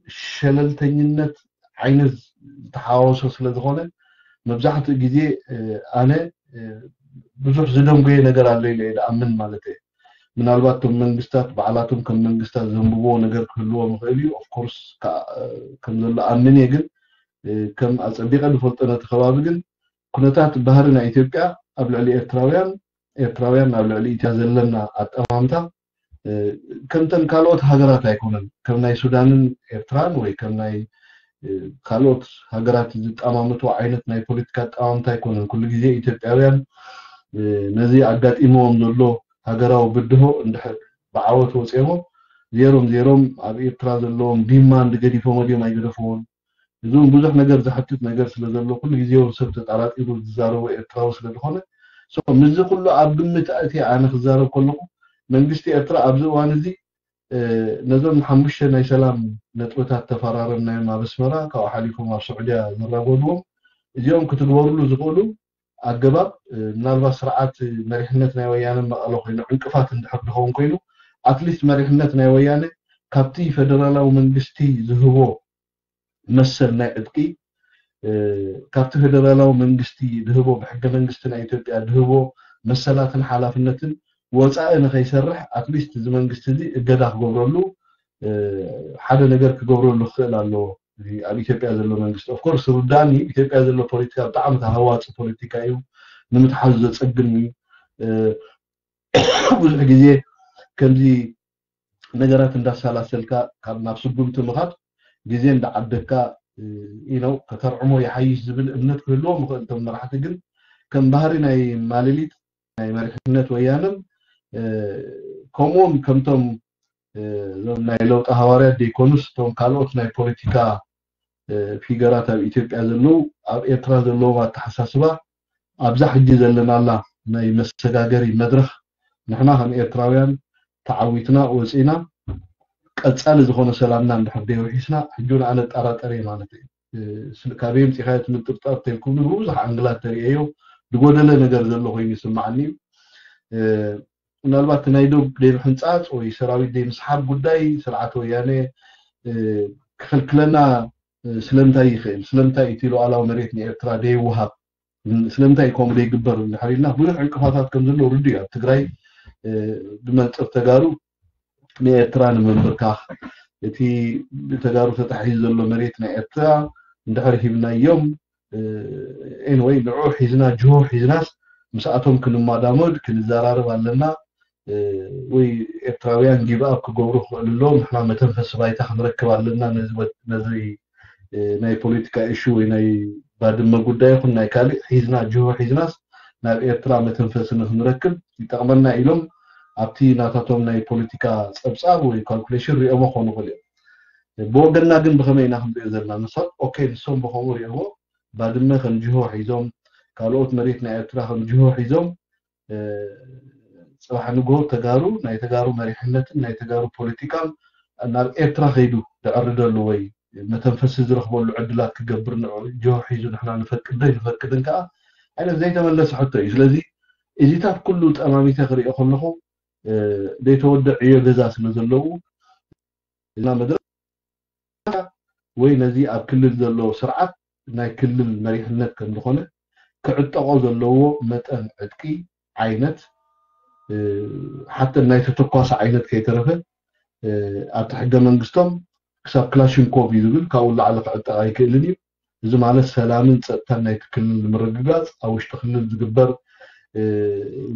ሸለልተኝነት ዓይነት ዝተሓዋወሰ ስለ ዝኾነ መብዛሕትኡ ግዜ ኣነ ብዙሕ ዝደንጎየ ነገር ኣሎ ኢለ እየ ዝኣምን ማለት እየ። ምናልባት እቶም መንግስታት ባዕላቶም ከም መንግስታት ዘንብብዎ ነገር ክህልዎም ይኽእል እዩ። ኦፍኮርስ ከም ዘሎ ኣምን እየ፣ ግን ከም ኣፀቢቐ ዝፈልጦ ነቲ ከባቢ ግን ኩነታት ባህሪ ናይ ኢትዮጵያ ኣብ ልዕሊ ኤርትራውያን ኤርትራውያን ኣብ ልዕሊ ኢትያ ዘለና ኣጠማምታ ከምተን ካልኦት ሃገራት ኣይኮነን። ከም ናይ ሱዳንን ኤርትራን ወይ ከም ናይ ካልኦት ሃገራት ዝጠማምትዎ ዓይነት ናይ ፖለቲካ ኣጠማምታ ኣይኮነን። ኩሉ ግዜ ኢትዮጵያውያን ነዚ ኣጋጢምዎም ዘሎ ሃገራዊ ብድሆ እንድሕር ብዓወት ወፂኦሞ ዜሮም ዜሮም ኣብ ኤርትራ ዘለዎም ዲማንድ ገዲፎሞ ድዮም ኣይገደፍዎን? እዚ እውን ብዙሕ ነገር ዘሕትት ነገር ስለ ዘሎ ኩሉ ግዜ እውን ሰብ ተጠራጢሩ ዝዛረቦ ኤርትራዊ ስለ ዝኾነ ምዚ ኩሉ ኣብ ግምት ኣእትየ ኣነ ክዛረብ ከለኹ መንግስቲ ኤርትራ ኣብዚ እዋን እዚ ነዞም ሓሙሽተ ናይ ሰላም ነጥብታት ተፈራረምናዮም ኣብ ኣስመራ ካብኡ ሓሊፎም ኣብ ስዑድያ ዘራጎድዎም እዚኦም ክትግበርሉ ዝኽእሉ ኣገባብ ምናልባት ስርዓት መሪሕነት ናይ ወያነ መቐለ ኮይኑ ዕንቅፋት እንድሕር ዝኸውን ኮይኑ ኣትሊስት መሪሕነት ናይ ወያነ ካብቲ ፈደራላዊ መንግስቲ ዝህቦ መሰል ናይ ዕጥቂ ካብቲ ፌደራላዊ መንግስቲ ድህቦ ብሕገ መንግስቲ ናይ ኢትዮጵያ ድህቦ መሰላትን ሓላፍነትን ወፃኢ ንከይሰርሕ ኣትሊስት እዚ መንግስቲ እዚ እገዳ ክገብረሉ ሓደ ነገር ክገብረሉ ክኽእል ኣለዎ። ኣብ ኢትዮጵያ ዘሎ መንግስቲ ኦፍኮርስ ርዳኒ ኢትዮጵያ ዘሎ ፖለቲካ ብጣዕሚ ተሃዋፂ ፖለቲካ እዩ። ንምትሓዙ ዘፀግም እዩ። ብዙሕ ግዜ ከምዚ ነገራት እንዳሰላሰልካ ካብ ናብ ስጉምቲ ምኻድ ግዜ እንዳዓደግካ ኢነው ከተርዕሞ ይሓይሽ ዝብል እምነት ክህልዎም ይኽእል። እቶም መራሕቲ ግን ከም ባህሪ ናይ ማለሊት ናይ መሪሕነት ወያነን ከምኡውን ከምቶም እዞም ናይ ለውጢ ሃዋርያት ዘይኮኑስ እቶም ካልኦት ናይ ፖለቲካ ፊገራት ኣብ ኢትዮጵያ ዘለዉ ኣብ ኤርትራ ዘለዎም ኣተሓሳስባ ኣብዛ ሕጂ ዘለናላ ናይ መሰጋገሪ መድረኽ ንሕና ከም ኤርትራውያን ተዓዊትና ወፂና ቀፃሊ ዝኾነ ሰላምና እንድሕር ደይውሒስና ሕጂ እውን ኣነ ጠራጠር እየ ማለት እዩ። ካበይ ምፂኻዮ እቲ ምጥርጣር ተልኩብኒ ብብዙሕ ኣንግላት ተርእየዮ ዝጎደለ ነገር ዘሎ ኮይኑ ይስማዓኒ እዩ። ምናልባት ናይ ዶብ ደይ ምሕንፃፅ ወይ ሰራዊት ደይ ምስሓብ ጉዳይ ስርዓት ወያነ ክኽልክለና ስለምንታይ ይኽእል? ስለምንታይ እቲ ሉዓላዊ መሬት ንኤርትራ ደይወሃብ? ስለምንታይ ከምኡ ደይግበር እንድሕር ኢልና ብዙሕ ዕንቅፋታት ከም ዘሎ ርዱ እዩ። ኣብ ትግራይ ብመንፅር ተጋሩ ንኤርትራ ንምንብርካኽ እቲ ብተጋሩ ተታሒዙ ዘሎ መሬት ናይ ኤርትራ እንድሕር ሂብናዮም ኤንወይ ንዑ ሒዝና ጅሆ ሒዝናስ ምስኣቶም ክንማዳመድ ክንዘራረብ ኣለና። ወይ ኤርትራውያን give up ክገብሩ ክኽእሉ ኣለዎም። ንሕና መተንፈሲ ባይታ ክንረክብ ኣለና። ነዚ ናይ ፖለቲካ ኢሹ ወይ ናይ ባድመ ጉዳይ ይኹን ናይ ካልእ ሒዝና፣ ጅሆ ሒዝናስ ናብ ኤርትራ መተንፈሲ ንክንረክብ ይጠቕመና ኢሎም ኣብቲ ናታቶም ናይ ፖለቲካ ጸብጻብ ወይ ካልኩሌሽን ሪኦሞ ክኾኑ ይኽእሉ እዮም። ብወገንና ግን ብኸመይ ኢና ክንሪኦ ዘለና? ንሶም ኦኬ፣ ንሶም ብኸምኡ ሪኦሞ፣ ባድመ ከም ጅሆ ሒዞም፣ ካልኦት መሬት ናይ ኤርትራ ከም ጅሆ ሒዞም፣ ጽባሕ ንግሆ ተጋሩ፣ ናይ ተጋሩ መሪሕነትን ናይ ተጋሩ ፖለቲካን ናብ ኤርትራ ከይዱ ዝዕርደሉ ወይ መተንፈሲ ዝረኽበሉ ዕድላት ክገብር ንዑ ጅሆ ሒዙ ንሕና ንፈቅድ ዶ ኣይንፈቅድን ከኣ ዓይነት ዘይተመለሰ ሕቶ እዩ። ስለዚ እዚታት ኩሉ ጠማሚተ ክሪኦ ከለኹ ዘይተወደ ዕዮ ገዛ ስለ ዘለዉ እና መድረኽ ወይ ነዚ ኣብ ክልል ዘሎ ስርዓት ናይ ክልል መሪሕነት ከም ዝኾነ ክዕጠቆ ዘለዎ መጠን ዕጥቂ ዓይነት ሓተ ናይ ተተኳሲ ዓይነት ከይተረፈ ኣብቲ ሕገ መንግስቶም ክሳብ ክላሽንኮቭ እዩ ዝብል፣ ካብኡ ላዕሊ ክዕጠቕ ኣይክእልን እዩ። እዚ ማለት ሰላምን ጸጥታን ናይቲ ክልል ንምርግጋጽ ኣብ ውሽጢ ክልል ዝግበር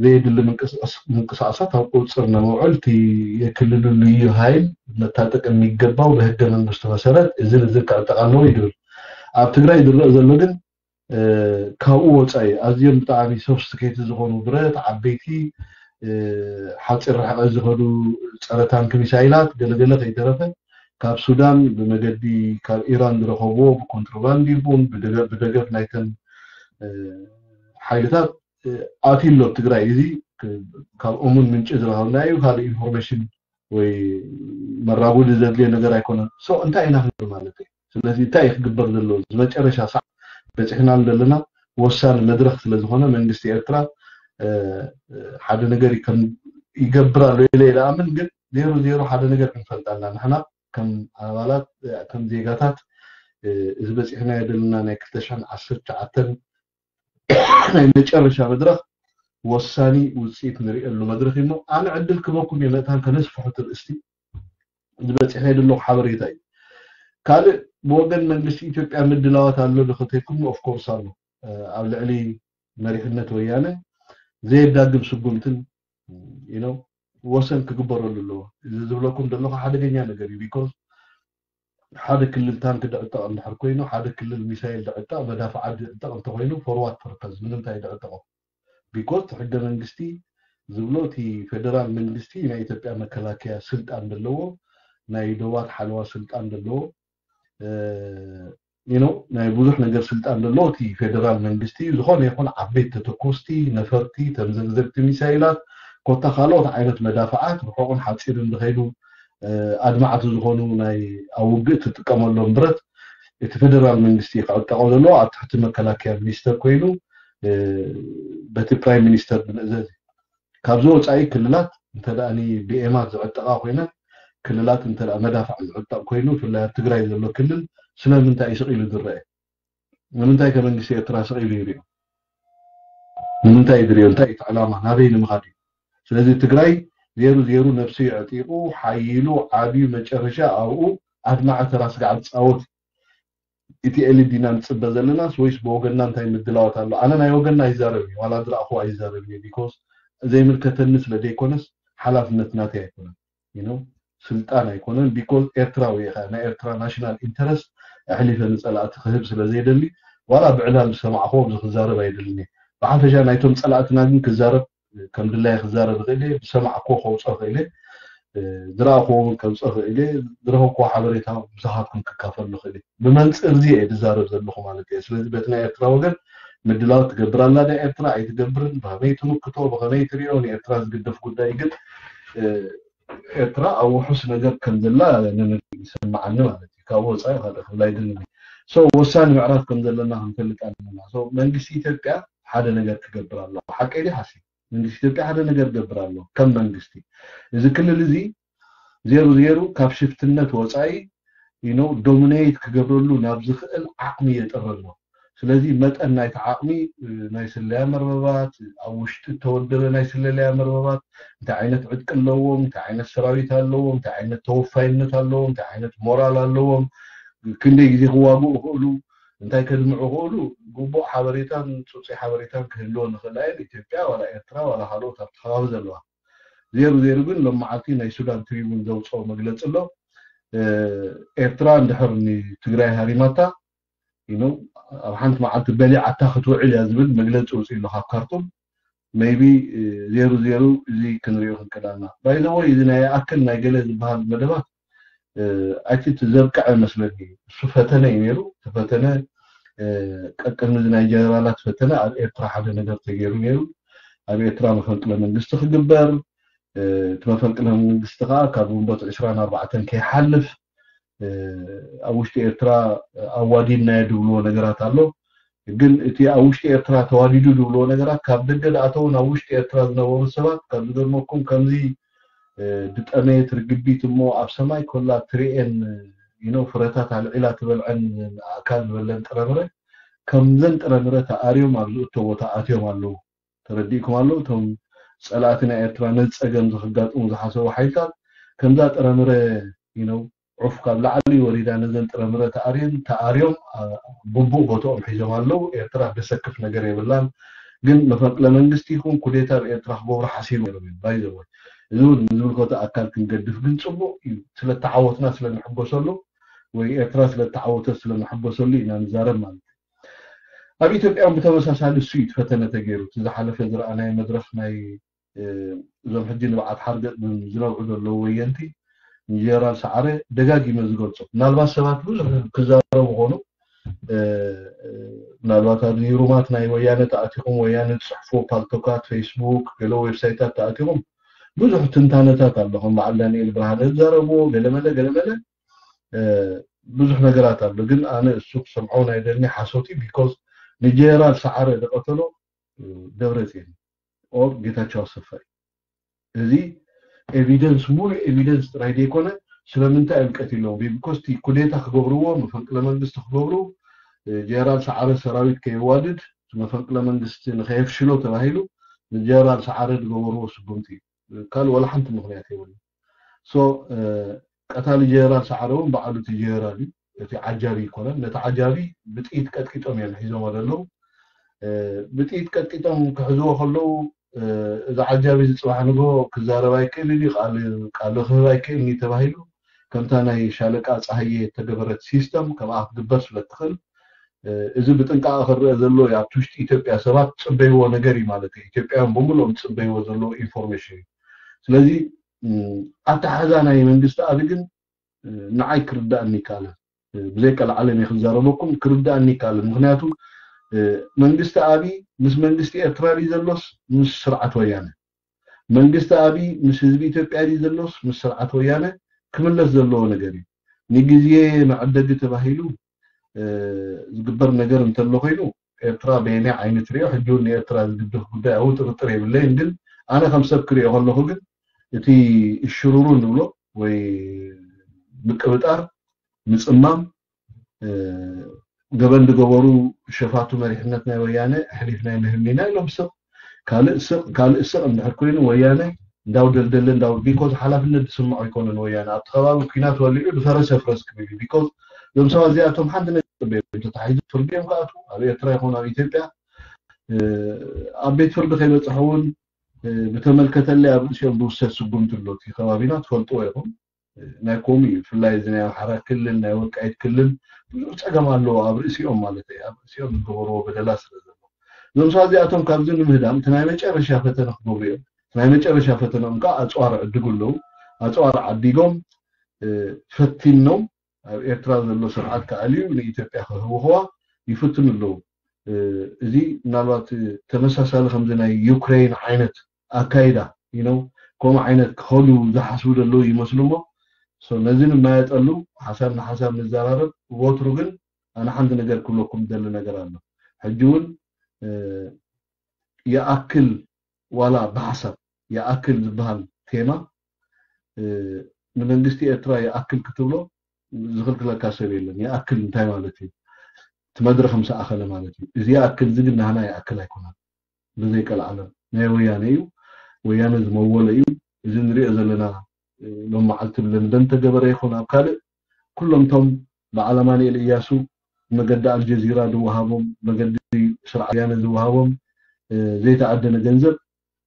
ዘየድሊ ምንቅስቃሳት ኣብ ቁጽር ንምውዕል እቲ የክልሉ ልዩ ኃይል መታጠቅ የሚገባው በህገ መንግስቱ መሰረት እዝን እዝን ክዕጠቅ ኣለዎ ይድብል። ኣብ ትግራይ ዝረእ ዘሎ ግን ካብኡ ወፃኢ ኣዝዮም ብጣዕሚ ሶፍስቲኬት ዝኾኑ ብረት ዓበይቲ ሓፂር ርሕቀት ዝኸዱ ጸረ ታንክ ሚሳይላት ገለገለ ከይተረፈ ካብ ሱዳን ብመገዲ ካብ ኢራን ዝረኸብዎ ብኮንትሮባንድ ይኹን ብደገፍ ናይተን ሓይልታት ኣትዩ ኣሎ ትግራይ። እዚ ካብ እሙን ምንጪ ዝረኸብናዩ ካልእ ኢንፎርሜሽን ወይ መራጎዲ ዘድልዮ ነገር ኣይኮነን። ሶ እንታይ ኢና ክንብል ማለት እዩ? ስለዚ እንታይ እዩ ክግበር ዘለዎ? ዝመጨረሻ ሰዓት በፂሕና ዘለና ወሳኒ መድረክ ስለዝኾነ መንግስቲ ኤርትራ ሓደ ነገር ይገብር ኣሎ ኢለ ይለኣምን፣ ግን ዜሮ ዜሮ ሓደ ነገር ክንፈልጥ ኣለና ንሕና ከም ኣባላት ከም ዜጋታት እዚ በፂሕናዮ ዘለና ናይ ክልተ ሽሕን ዓሰርተ ትሽዓተን ናይ መጨረሻ መድረኽ ወሳኒ ውፅኢት ንሪእሉ መድረኽ እዩ። ኣነ ዕድል ክበኩም እየ መእታን ከነስፍሑ ትርእስቲ ዝበፂሐ ዘለኹ ሓበሬታ እዩ። ካልእ ብወገን መንግስቲ ኢትዮጵያ ምድላዋት ኣሎ ዶ ከተልኩም? ኦፍኮርስ ኣሎ። ኣብ ልዕሊ መሪሕነት ወያነ ዘየዳግም ስጉምትን ወሰን ክግበረሉ ኣለዎ። እዚ ዝብለኩም ዘለኹ ሓደገኛ ነገር እዩ። ቢኮዝ ሓደ ክልል ታንክ ድዕጠቕ እንድሕር ኮይኑ፣ ሓደ ክልል ሚሳይል ድዕጠቕ፣ መዳፍዓት ድዕጠቕ እንተኮይኑ for what purpose? ንምንታይ ድዕጠቖ? ቢኮዝ እቲ ሕገ መንግስቲ ዝብሎ እቲ ፌደራል መንግስቲ ናይ ኢትዮጵያ መከላከያ ስልጣን ዘለዎ ናይ ዶባት ሓለዋ ስልጣን ዘለዎ you know ናይ ብዙሕ ነገር ስልጣን ዘለዎ እቲ ፌደራል መንግስቲ እዩ። ዝኾነ ይኹን ዓበይቲ ተተኮስቲ ነፈርቲ፣ ተምዘግዘግቲ ሚሳይላት፣ ኮታ ካልኦት ዓይነት መዳፍዓት ርሑቕን ሓፂርን ዝኸይዱ ኣድማዕቲ ዝኾኑ ናይ ኣብ ውግእ ትጥቀመሎም ብረት እቲ ፌደራል መንግስቲ ክዕጠቆ ዘለዎ ኣብ ትሕቲ መከላከያ ሚኒስተር ኮይኑ በቲ ፕራይም ሚኒስተር ብምእዘዝ እዩ። ካብዚ ወፃኢ ክልላት እንተ ደኣ ብኤማት ዝዕጠቃ ኮይነን ክልላት እንተ ደኣ መዳፍዕ ዝዕጠቅ ኮይኑ ብፍላይ ኣብ ትግራይ ዘሎ ክልል ስለምንታይ እዩ ስቕ ኢሉ ዝረአ? ንምንታይ ከ መንግስቲ ኤርትራ ስቕ ኢሉ ይሪኦ? ንምንታይ እዩ ዝሪኦ? እንታይ እቲ ዕላማ? ናበይ ንምኻድ እዩ? ስለዚ ትግራይ ዜሩ ዜሩ ነብሱ የዕጢቑ ሓይሉ ዓብዩ መጨረሻ ኣብኡ ኣድማዒ ተራ ስጋዕ ዝፃወት እዩ። እቲ ኤሊት ዲና ንፅበ ዘለናስ ወይስ ብወገንና እንታይ ምድላዋት ኣሎ? ኣነ ናይ ወገንና ኣይዛረብን እየ፣ ዋላ ዝረኣኹ ኣይዛረብን እየ። ቢኮዝ ዘይምልከተኒ ስለ ዘይኮነስ ሓላፍነት ናተይ ኣይኮነን። You know ስልጣን ኣይኮነን። ቢኮዝ ኤርትራዊ እየ፣ ናይ ኤርትራ ናሽናል ኢንተረስት ኣሕሊፈ ንፀላእቲ ክህብ ስለ ዘይደሊ ዋላ ብዕላል ዝሰማዕኹዎ ኣብዚ ክዛረብ ኣይደልን እየ። ብሓፈሻ ናይቶም ፀላእትና ግን ክዛረብ ከም ድላየ ክዛረብ እኽእል እየ፣ ዝሰማዕኩዎ ከውፅኦ እኽእል እየ፣ ዝረኣኹዎ እውን ከውፅኦ እኽእል እየ፣ ዝረኸብኩዎ ሓበሬታ ብዙሓትኩም ክካፈሉ እኽእል እየ። ብመንፅር እዚ እየ ዝዛረብ ዘለኹ ማለት እየ። ስለዚ በቲ ናይ ኤርትራ ወገን ምድላው ትገብር ኣላ ዳ ኤርትራ ኣይትገብርን፣ ብኸመይ ትምክቶ፣ ብኸመይ ትሪኦ ንኤርትራ ዝግደፍ ጉዳይ ግን ኤርትራ ኣብ ውሑስ ነገር ከም ዘላ ይሰማዓኒ ማለት እዩ። ካብ ወፃኢ ካልእ ክብል ኣይደልን። ሶ ወሳኒ ምዕራፍ ከም ዘለና ክንፈልጥ ኣለና። መንግስቲ ኢትዮጵያ ሓደ ነገር ክገብር ኣለዎ። ሓቀይ ድዩ ሓሲ? መንግስቲ ኢትዮጵያ ሓደ ነገር ክገብር ኣለዎ። ከም መንግስቲ እዚ ክልል እዚ ዜሩ ዜሩ ካብ ሽፍትነት ወፃኢ you know ዶሚኔት ክገብረሉ ናብ ዝኽእል ዓቕሚ የጥሪ ኣሎ። ስለዚ መጠን ናይቲ ዓቕሚ ናይ ስለያ መርበባት፣ ኣብ ውሽጢ እተወደበ ናይ ስለያ መርበባት እንታይ ዓይነት ዕጥቂ ኣለዎም፣ እንታይ ዓይነት ሰራዊት ኣለዎም፣ እንታይ ዓይነት ተወፋይነት ኣለዎም፣ እንታይ ዓይነት ሞራል ኣለዎም፣ ክንደይ ግዜ ክዋግኡ ይኽእሉ፣ እንታይ ከድምዑ ይኽእሉ፣ ግቡእ ሓበሬታን ፅፁይ ሓበሬታን ክህልወን ይኽእል እየን ኢትዮጵያ ዋላ ኤርትራ ዋላ ካልኦት ኣብቲ ከባቢ ዘለዋ። ዜሩ ዜሩ ግን ሎም መዓልቲ ናይ ሱዳን ትሪቡን ዘውፅኦ መግለፂ ኣሎ። ኤርትራ እንድሕር ንትግራይ ሃሪማታ፣ ኣብ ሓንቲ መዓልቲ በሊዓታ ክትውዕል እያ ዝብል መግለፂ ውፅእ ኣሎ ካብ ካርቱም። maybe ዜሩ ዜሩ እዚ ክንሪኦ ክንክእላና ባይዘወይ። እዚ ናይ ኣክል ናይ ገለ ዝበሃል መደባት ኣይትት ዘብቅዐ መስለኒ። እሱ ፈተነ እዩ ነይሩ። ተፈተነ ቀቅድሚ እዚ ናይ ጀነራላት ፈተነ ኣብ ኤርትራ ሓደ ነገር ተገይሩ ነይሩ። ኣብ ኤርትራ መፈንቅለ መንግስቲ ክግበር፣ እቲ መፈንቅለ መንግስቲ ከዓ ካብ ግንቦት ዕስራን ኣርባዕተን ከይሓልፍ ኣብ ውሽጢ ኤርትራ ኣዋዲድናዮ ድብልዎ ነገራት ኣሎ። ግን እቲ ኣብ ውሽጢ ኤርትራ ተዋዲዱ ድብልዎ ነገራት ካብ ደገ ዝኣተውን ኣብ ውሽጢ ኤርትራ ዝነበሩ ሰባት ካብ ዝገርመኩም ከምዚ ድጠመየት ርግቢት እሞ ኣብ ሰማይ ኮላ ትርኤን ፍረታት ኣልዒላ ትበልዐን ኣእካል ዝበለን ጥረምረ ከምዘን ጥረምረ ተኣርዮም ኣብ ዝእቶ ቦታ ኣትዮም ኣለዉ። ተረዲእኩም ኣሎ። እቶም ፀላእቲ ናይ ኤርትራ ነዚ ፀገም ዝክጋጥሙ ዝሓሰቡ ሓይልታት ከምዛ ጥረምረ ዒፍ ካብ ላዕሊ ወሪዳ ነዘን ጥረምረ ተኣርየን ተኣርዮም ብቡእ ቦትኦም ሒዞም ኣለዉ። ኤርትራ ደሰክፍ ነገር የብላን። ግን መፈንቅለ መንግስቲ ይኹን ኩዴታ ኣብ ኤርትራ ክገብሩ ሓሲቦም ነይሮም እዮም። ባይዘወይ እዚ እውን ንዝምልከቶ ኣካል ክንገድፍ ግን ፅቡቅ እዩ። ስለተዓወትና ስለንሕጎሰሉ ወይ ኤርትራ ስለተዓወተ ስለንሕጎሰሉ ኢና ንዛረብ ማለት እዩ። ኣብ ኢትዮጵያ እውን ብተመሳሳሊ እሱ እዩ ፈተነ ተገይሩ። እቲ ዝሓለፈ ዝረኣናዮ መድረኽ ናይ እዞም ሕጂ ንብዓት ሓርገጥ ዝነብዑ ዘለዉ ወየንቲ ንጀነራል ሰዓረ ደጋጊመ ዝገልጾ። ምናልባት ሰባት ብዙሕ ክዛረቡ ኾኑ፣ ምናልባት ኣብዚ ሩማት ናይ ወያነ ተኣቲኹም፣ ወያነ ዝፅሕፎ ፓልቶካት፣ ፌስቡክ፣ ገለ ዌብሳይታት ተኣቲኹም ብዙሕ ትንታነታት ኣሎ። ከም በዓል ዳንኤል ብርሃነ ዝዛረብዎ ገለመለ ገለመለ ብዙሕ ነገራት ኣሎ። ግን ኣነ እሱ ክሰምዖ ናይ ደኒ ሓሶት እዩ። ቢኮዝ ንጀነራል ሰዓረ ዝቐተሎ ደብረፅዮን ኦር ጌታቸው ኣሰፋ እዩ። እዚ ኤቪደንስ፣ ሙሉ ኤቪደንስ ጥራይ ዘይኮነ ስለምንታይ እዮም ቀቲሎም? ቢኮዝ እቲ ኩዴታ ክገብርዎ፣ መፈንቅለ መንግስቲ ክገብሩ፣ ጀነራል ሰዓረ ሰራዊት ከየዋድድ፣ መፈንቅለ መንግስቲ ንከየፍሽሎ ተባሂሉ ንጀነራል ሰዓረ ዝገበርዎ ስጉምቲ እዩ። ካልእ ዋላ ሓንቲ ምኽንያት የብሉ። ሶ ቀታሊ ጀነራል ሰዓረ እውን በዓሉ እቲ ጀነራል እዩ። እቲ ዓጃቢ ይኮነን። ነቲ ዓጃቢ ብጥይት ቀጥቂጦም እዮም ሒዞሞ ዘለዉ። ብጥይት ቀጥቂጦም ክሕዝዎ ከለዉ እዚ ዓጃቢ እዚ ፅባሕ ንግሆ ክዛረብ ኣይክእልን እዩ፣ ቃል ክህብ ኣይክእልን እዩ ተባሂሉ ከምታ ናይ ሻለቃ ፀሃየ እተገበረት ሲስተም ከምኣ ክትግበር ስለ ትኽእል እዚ ብጥንቃቐ ክረአ ዘሎ እዩ። ኣብቲ ውሽጢ ኢትዮጵያ ሰባት ዝፅበይዎ ነገር እዩ ማለት እዩ። ኢትዮጵያውያን ብምልኦም ዝፅበይዎ ዘለዉ ኢንፎርሜሽን እዩ። ስለዚ ኣተሓሕዛ ናይ መንግስቲ ኣቢ ግን ንዓይ ክርዳእኒ ይከኣለን። ብዘይ ቀልዓለም እየ ክዛረበኩም፣ ክርዳእኒ ይከኣለን። ምክንያቱ መንግስቲ ኣቢ ምስ መንግስቲ ኤርትራ ድዩ ዘሎስ ምስ ስርዓት ወያነ? መንግስቲ ኣቢ ምስ ህዝቢ ኢትዮጵያ ድዩ ዘሎስ ምስ ስርዓት ወያነ? ክምለስ ዘለዎ ነገር እዩ። ንግዜ መዐደጊ ተባሂሉ ዝግበር ነገር እንተሎ ኮይኑ ኤርትራ በየናይ ዓይኒ ትሪኦ? ሕጂ እውን ንኤርትራ ዝግድፍ ጉዳይ ኣብኡ ጥርጥር የብለይን። ግን ኣነ ከም ሰብ ክሪኦ ከለኹ ግን እቲ እሽሩሩ ንብሎ ወይ ምቅብጣር፣ ምፅማም፣ ገበን ዝገበሩ ሸፋቱ መሪሕነት ናይ ወያነ ኣሕሊፍና ኣይንህብን ኢና ኢሎም ስቕ ካልእ ስቕ ካልእ ስቕ እንድሕር ኮይኑ ወያነ እንዳው ደልደለ እንዳው ቢኮዝ ሓላፍነት ዝስምዖ ኣይኮነን። ወያነ ኣብቲ ከባቢ ኩናት ወሊዑ ዝፈረሰ ፍረስ ክብል እዩ። ቢኮዝ እዞም ሰባት እዚኣቶም ሓንቲ ነገር ተታሒዙ ፍርዲ እዮም ክኣትዉ ኣብ ኤርትራ ይኹን ኣብ ኢትዮጵያ ኣብ ቤት ፍርዲ ከይበፅሑ እውን ብተመልከተለይ ኣብ ርእሲኦም ዝውሰድ ስጉምቲ ኣሎ። እቲ ከባቢና ትፈልጥዎ ኢኹም። ናይ ኮም እዩ ብፍላይ እዚ ናይ ኣምሓራ ክልል ናይ ወልቃይት ክልል ብዙሕ ፀገም ኣለዎ ኣብ ርእሲኦም ማለት እዩ። ኣብ ርእሲኦም ዝገበርዎ በደላ ስለ ዘሎ እዞም ሰባት እዚኣቶም ካብዚ ንምህዳም እቲ ናይ መጨረሻ ፈተነ ክገብሩ እዮም። እቲ ናይ መጨረሻ ፈተነኦም ከዓ ኣፅዋር ዕድጉ ኣለዉ። ኣፅዋር ዓዲጎም ፈቲኖም ኣብ ኤርትራ ዘሎ ስርዓት ክኣልዩ ንኢትዮጵያ ክህውኽዋ ይፍትኑ ኣለዉ። እዚ ምናልባት ተመሳሳሊ ከምዚ ናይ ዩክሬን ዓይነት ኣካይዳ you know ከምኡ ዓይነት ክኸዱ ዝሓስቡ ዘለዉ ይመስሉ እሞ ነዚ ንማየጠሉ ሓሳብ ንሓሳብ ንዘራረብ። ወትሩ ግን ኣነ ሓንቲ ነገር ክብለኩም ደሊ ነገር ኣሎ። ሕጂ እውን ይኣክል ዋላ ብሓሳብ ይኣክል ዝበሃል ቴማ ንመንግስቲ ኤርትራ ይኣክል ክትብሎ ዝኽልክለካ ሰብ የለን። ይኣክል እንታይ ማለት እዩ? እቲ መድረኽ ምስ ኣኸለ ማለት እዩ። እዚ ይኣክል እዚ ግን ናህና ይኣክል ኣይኮነን። ብዘይ ቀልዓለም ናይ ወያነ እዩ። ወያነ ዝመወለ እዩ። እዚ ንሪኦ ዘለና ሎም መዓልቲ ብለንደን ተገበረ ይኹን ኣብ ካልእ ኩሎም ቶም በዓል ኣማኑኤል እያሱ መገዲ ኣልጀዚራ ዝወሃቦም መገዲ ስርዓት ወያነ ዝወሃቦም ዘይተኣደነ ገንዘብ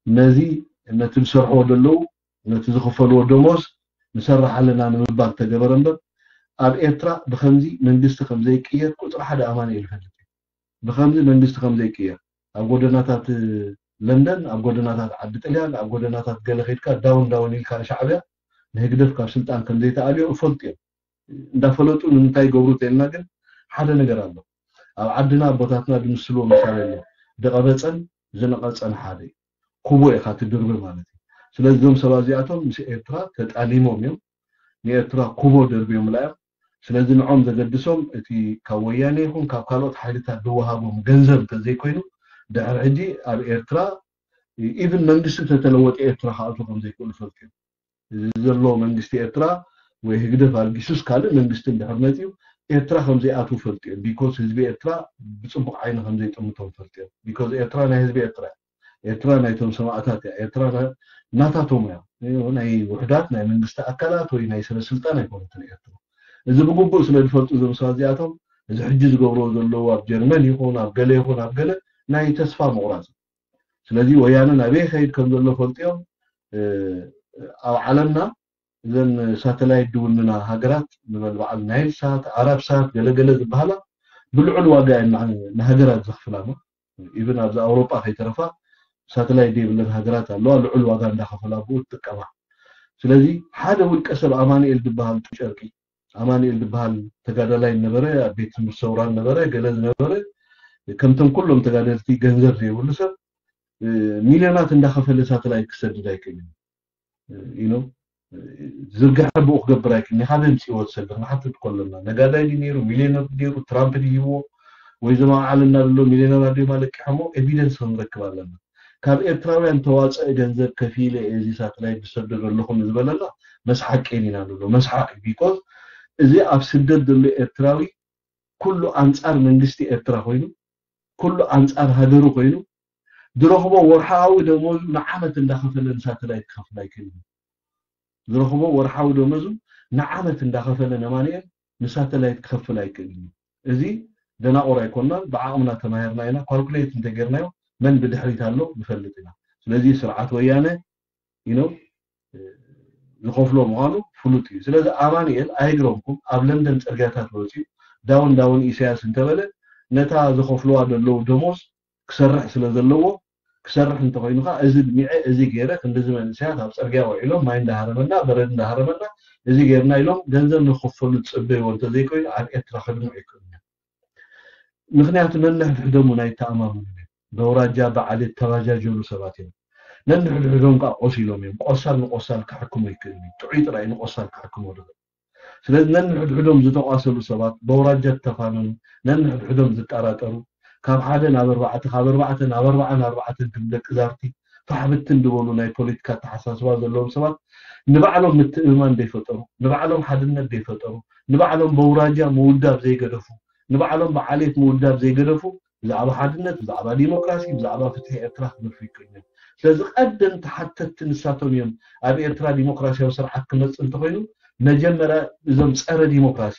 ነዚ ነቲ ዝሰርሕዎ ዘለዉ ነቲ ዝኽፈልዎ ደሞዝ ንሰርሕ ኣለና ንምባል ተገበረ እምበር፣ ኣብ ኤርትራ ብኸምዚ መንግስቲ ከም ዘይቅየር ቁፅሪ ሓደ ኣማኑኤል ይፈልጥ እዩ። ብኸምዚ መንግስቲ ከም ዘይቅየር፣ ኣብ ጎደናታት ለንደን፣ ኣብ ጎደናታት ዓዲ ጥልያን፣ ኣብ ጎደናታት ገለ ከይድካ ዳውን ዳውን ኢልካ ንሻዕብያ ንህግደፍ ካብ ስልጣን ከም ዘይተኣልዮ እፈልጡ እዮም። እንዳፈለጡ ንምንታይ ይገብሩ ተልና ግን ሓደ ነገር ኣሎ። ኣብ ዓድና ኣቦታትና ዝምስልዎ ምሳሌ ኣሎ። ደቐበፀን ዝነቐፀን ሓደ እዩ። ኩቦ ኢኻ ትድርቢ ማለት እዩ። ስለዚ እዞም ሰባት እዚኣቶም ምስ ኤርትራ ተጣሊሞም እዮም። ንኤርትራ ኩቦ ደርብዮምላ እዮም። ስለዚ ንዖም ዘገድሶም እቲ ካብ ወያነ ይኹን ካብ ካልኦት ሓይልታት ዝወሃቦም ገንዘብ እንተዘይኮይኑ ድሕሪ ሕጂ ኣብ ኤርትራ ኢቭን መንግስቲ ተተለወጠ ኤርትራ ክኣትዉ ከም ዘይክእሉ ፈልጡ እዮም። እዚ ዘሎ መንግስቲ ኤርትራ ወይ ህግደፍ ኣልጊሱስ ካልእ መንግስቲ እንድሕር መፂኡ ኤርትራ ከም ዘይኣትዉ ፈልጡ እዮም። ቢኮዝ ህዝቢ ኤርትራ ብፅቡቅ ዓይኒ ከም ዘይጥምቶም ፈልጡ እዮም። ቢኮዝ ኤርትራ ናይ ህዝቢ ኤርትራ እያ። ኤርትራ ናይቶም ሰማእታት እያ። ኤርትራ ና- ናታቶም እያ። ናይ ውሕዳት ናይ መንግስቲ ኣካላት ወይ ናይ ስነ ስልጣን ኣይኮነትን ኤርትራ። እዚ ብግቡእ ስለ ዝፈልጡ እዞም ሰባት እዚኣቶም እዚ ሕጂ ዝገብርዎ ዘለዉ ኣብ ጀርመን ይኹን ኣብ ገለ ይኹን ኣብ ገለ ናይ ተስፋ ምቑራፅ። ስለዚ ወያነ ናበይ ከይድ ከም ዘሎ ፈልጥዮም። ኣብ ዓለምና እዘን ሳተላይት ድውንና ሃገራት ንበል በዓል ናይል ሳት፣ ዓረብ ሳት፣ ገለገለ ዝበሃላ ብልዑል ዋጋ እየን ንሃገራት ዘኽፍላማ። ኢቭን ኣብዚ ኣውሮጳ ከይተረፋ ሳተላይት ዘይብለን ሃገራት ኣለዋ፣ ልዑል ዋጋ እንዳኸፈላ ብኡ ትጥቀማ። ስለዚ ሓደ ውልቀ ሰብ ኣማኑኤል ዝበሃል ጨርቂ ኣማኑኤል ዝበሃል ተጋዳላይ ነበረ፣ ኣብ ቤት ትምህርቲ ሰውራን ነበረ፣ ገለ ዝነበረ ከምቶም ኩሎም ተጋደልቲ ገንዘብ ዘይብሉ ሰብ ሚልዮናት እንዳኸፈለ ሳተላይት ክሰድድ ኣይክእልን። ኢኖ ዝርግሐ ብኡ ክገብር ኣይክእልን። ካበይ ኣምፅእዎ ዝሰድድ ንሓትት ከለና ነጋዳይ ድዩ ነይሩ፣ ሚልዮነር ድዩ ነይሩ፣ ትራምፕ ድዩ ሂብዎ ወይ ዘማዓልና ዘሎ ሚልዮነር ኣዲማ ለቂሖሞ ኤቪደንስ ክንረክብ ኣለና። ካብ ኤርትራውያን ተዋፀአ ገንዘብ ከፊለ እዚ ሳተላይት ዝሰደዶ ኣለኹ ዝበለና መስሓቅ ኢና ንብሎ። መስሓቅ ቢኮዝ እዚ ኣብ ስደት ዘሎ ኤርትራዊ ኩሉ ኣንፃር መንግስቲ ኤርትራ ኮይኑ ኩሉ ኣንፃር ሃገሩ ኮይኑ ዝረኽቦ ወርሓዊ ደሞዙ ንዓመት እንዳኸፈለ ንሳተላይት ክኸፍል ኣይክእልን። ዝረኽቦ ወርሓዊ ደሞዙ ንዓመት እንዳኸፈለ ነማንኤል ንሳተላይት ክኸፍል ኣይክእልን እዩ። እዚ ደናቑር ኣይኮናን፣ ብዓቕምና ተማሂርና ኢና፣ ካልኩሌት እንተጌርናዮ መን ብድሕሪት ኣሎ ንፈልጥ ኢና። ስለዚ ስርዓት ወያነ ኢኖ ዝኸፍሎ ምዃኑ ፍሉጥ እዩ። ስለዚ ኣማኑኤል ኣይግረምኩም ኣብ ለንደን ፅርግያታት ወፂኡ ዳውን ዳውን ኢሳያስ እንተበለ ነታ ዘኸፍልዋ ዘለዉ ደሞዝ ክሰርሕ ስለ ዘለዎ ክሰርሕ እንተኮይኑ ከዓ እዚ ድሚዐ እዚ ገይረ ክንድዚ መንእሰያት ኣብ ፅርግያ ውዒሎም ማይ እንዳሃረመና በረድ እንዳሃረመና እዚ ገይርና ኢሎም ገንዘብ ንክፈሉ ዝፅበይዎ እንተዘይኮይኑ ኣብ ኤርትራ ከድምዑ ይክእሉ እዮም። ምክንያቱ ነንሕድሕዶም እውን ኣይተኣማመኑን እዮም። በውራጃ ብዓሌት ተባጃጀሉ ሰባት እዮም። ነንሕድሕዶም ከዓ ቆሲሎም እዮም። ቆሳል ንቆሳል ክሕክሞ ይክእል እዩ። ጥዑይ ጥራይ ንቆሳል ክሕክሞ ድኽእል። ስለዚ ነንሕድሕዶም ዝተቋሰሉ ሰባት በውራጃ ዝተፋነኑ ነንሕድሕዶም ዝጠራጠሩ ካብ ሓደ ናብ ኣርባዕተ ካብ ኣርባዕተ ናብ ኣርባዓ ናብ ኣርባዕተ ክም ደቂ ዛርቲ ፋሕብትን ዝበሉ ናይ ፖለቲካ ኣተሓሳስባ ዘለዎም ሰባት ንባዕሎም ምትእምማን ዘይፈጠሩ ንባዕሎም ሓድነት ዘይፈጠሩ ንባዕሎም በውራጃ ምውዳብ ዘይገደፉ ንባዕሎም ብዓሌት ምውዳብ ዘይገደፉ ብዛዕባ ሓድነት ብዛዕባ ዲሞክራሲ ብዛዕባ ፍትሒ ኤርትራ ክገድፉ ይክእሉ እዮም። ስለዚ ቀደም ተሓተትቲ ንሳቶም እዮም። ኣብ ኤርትራ ዲሞክራሲያዊ ስርዓት ክመፅእ እንተኮይኑ መጀመርያ እዞም ፀረ ዲሞክራሲ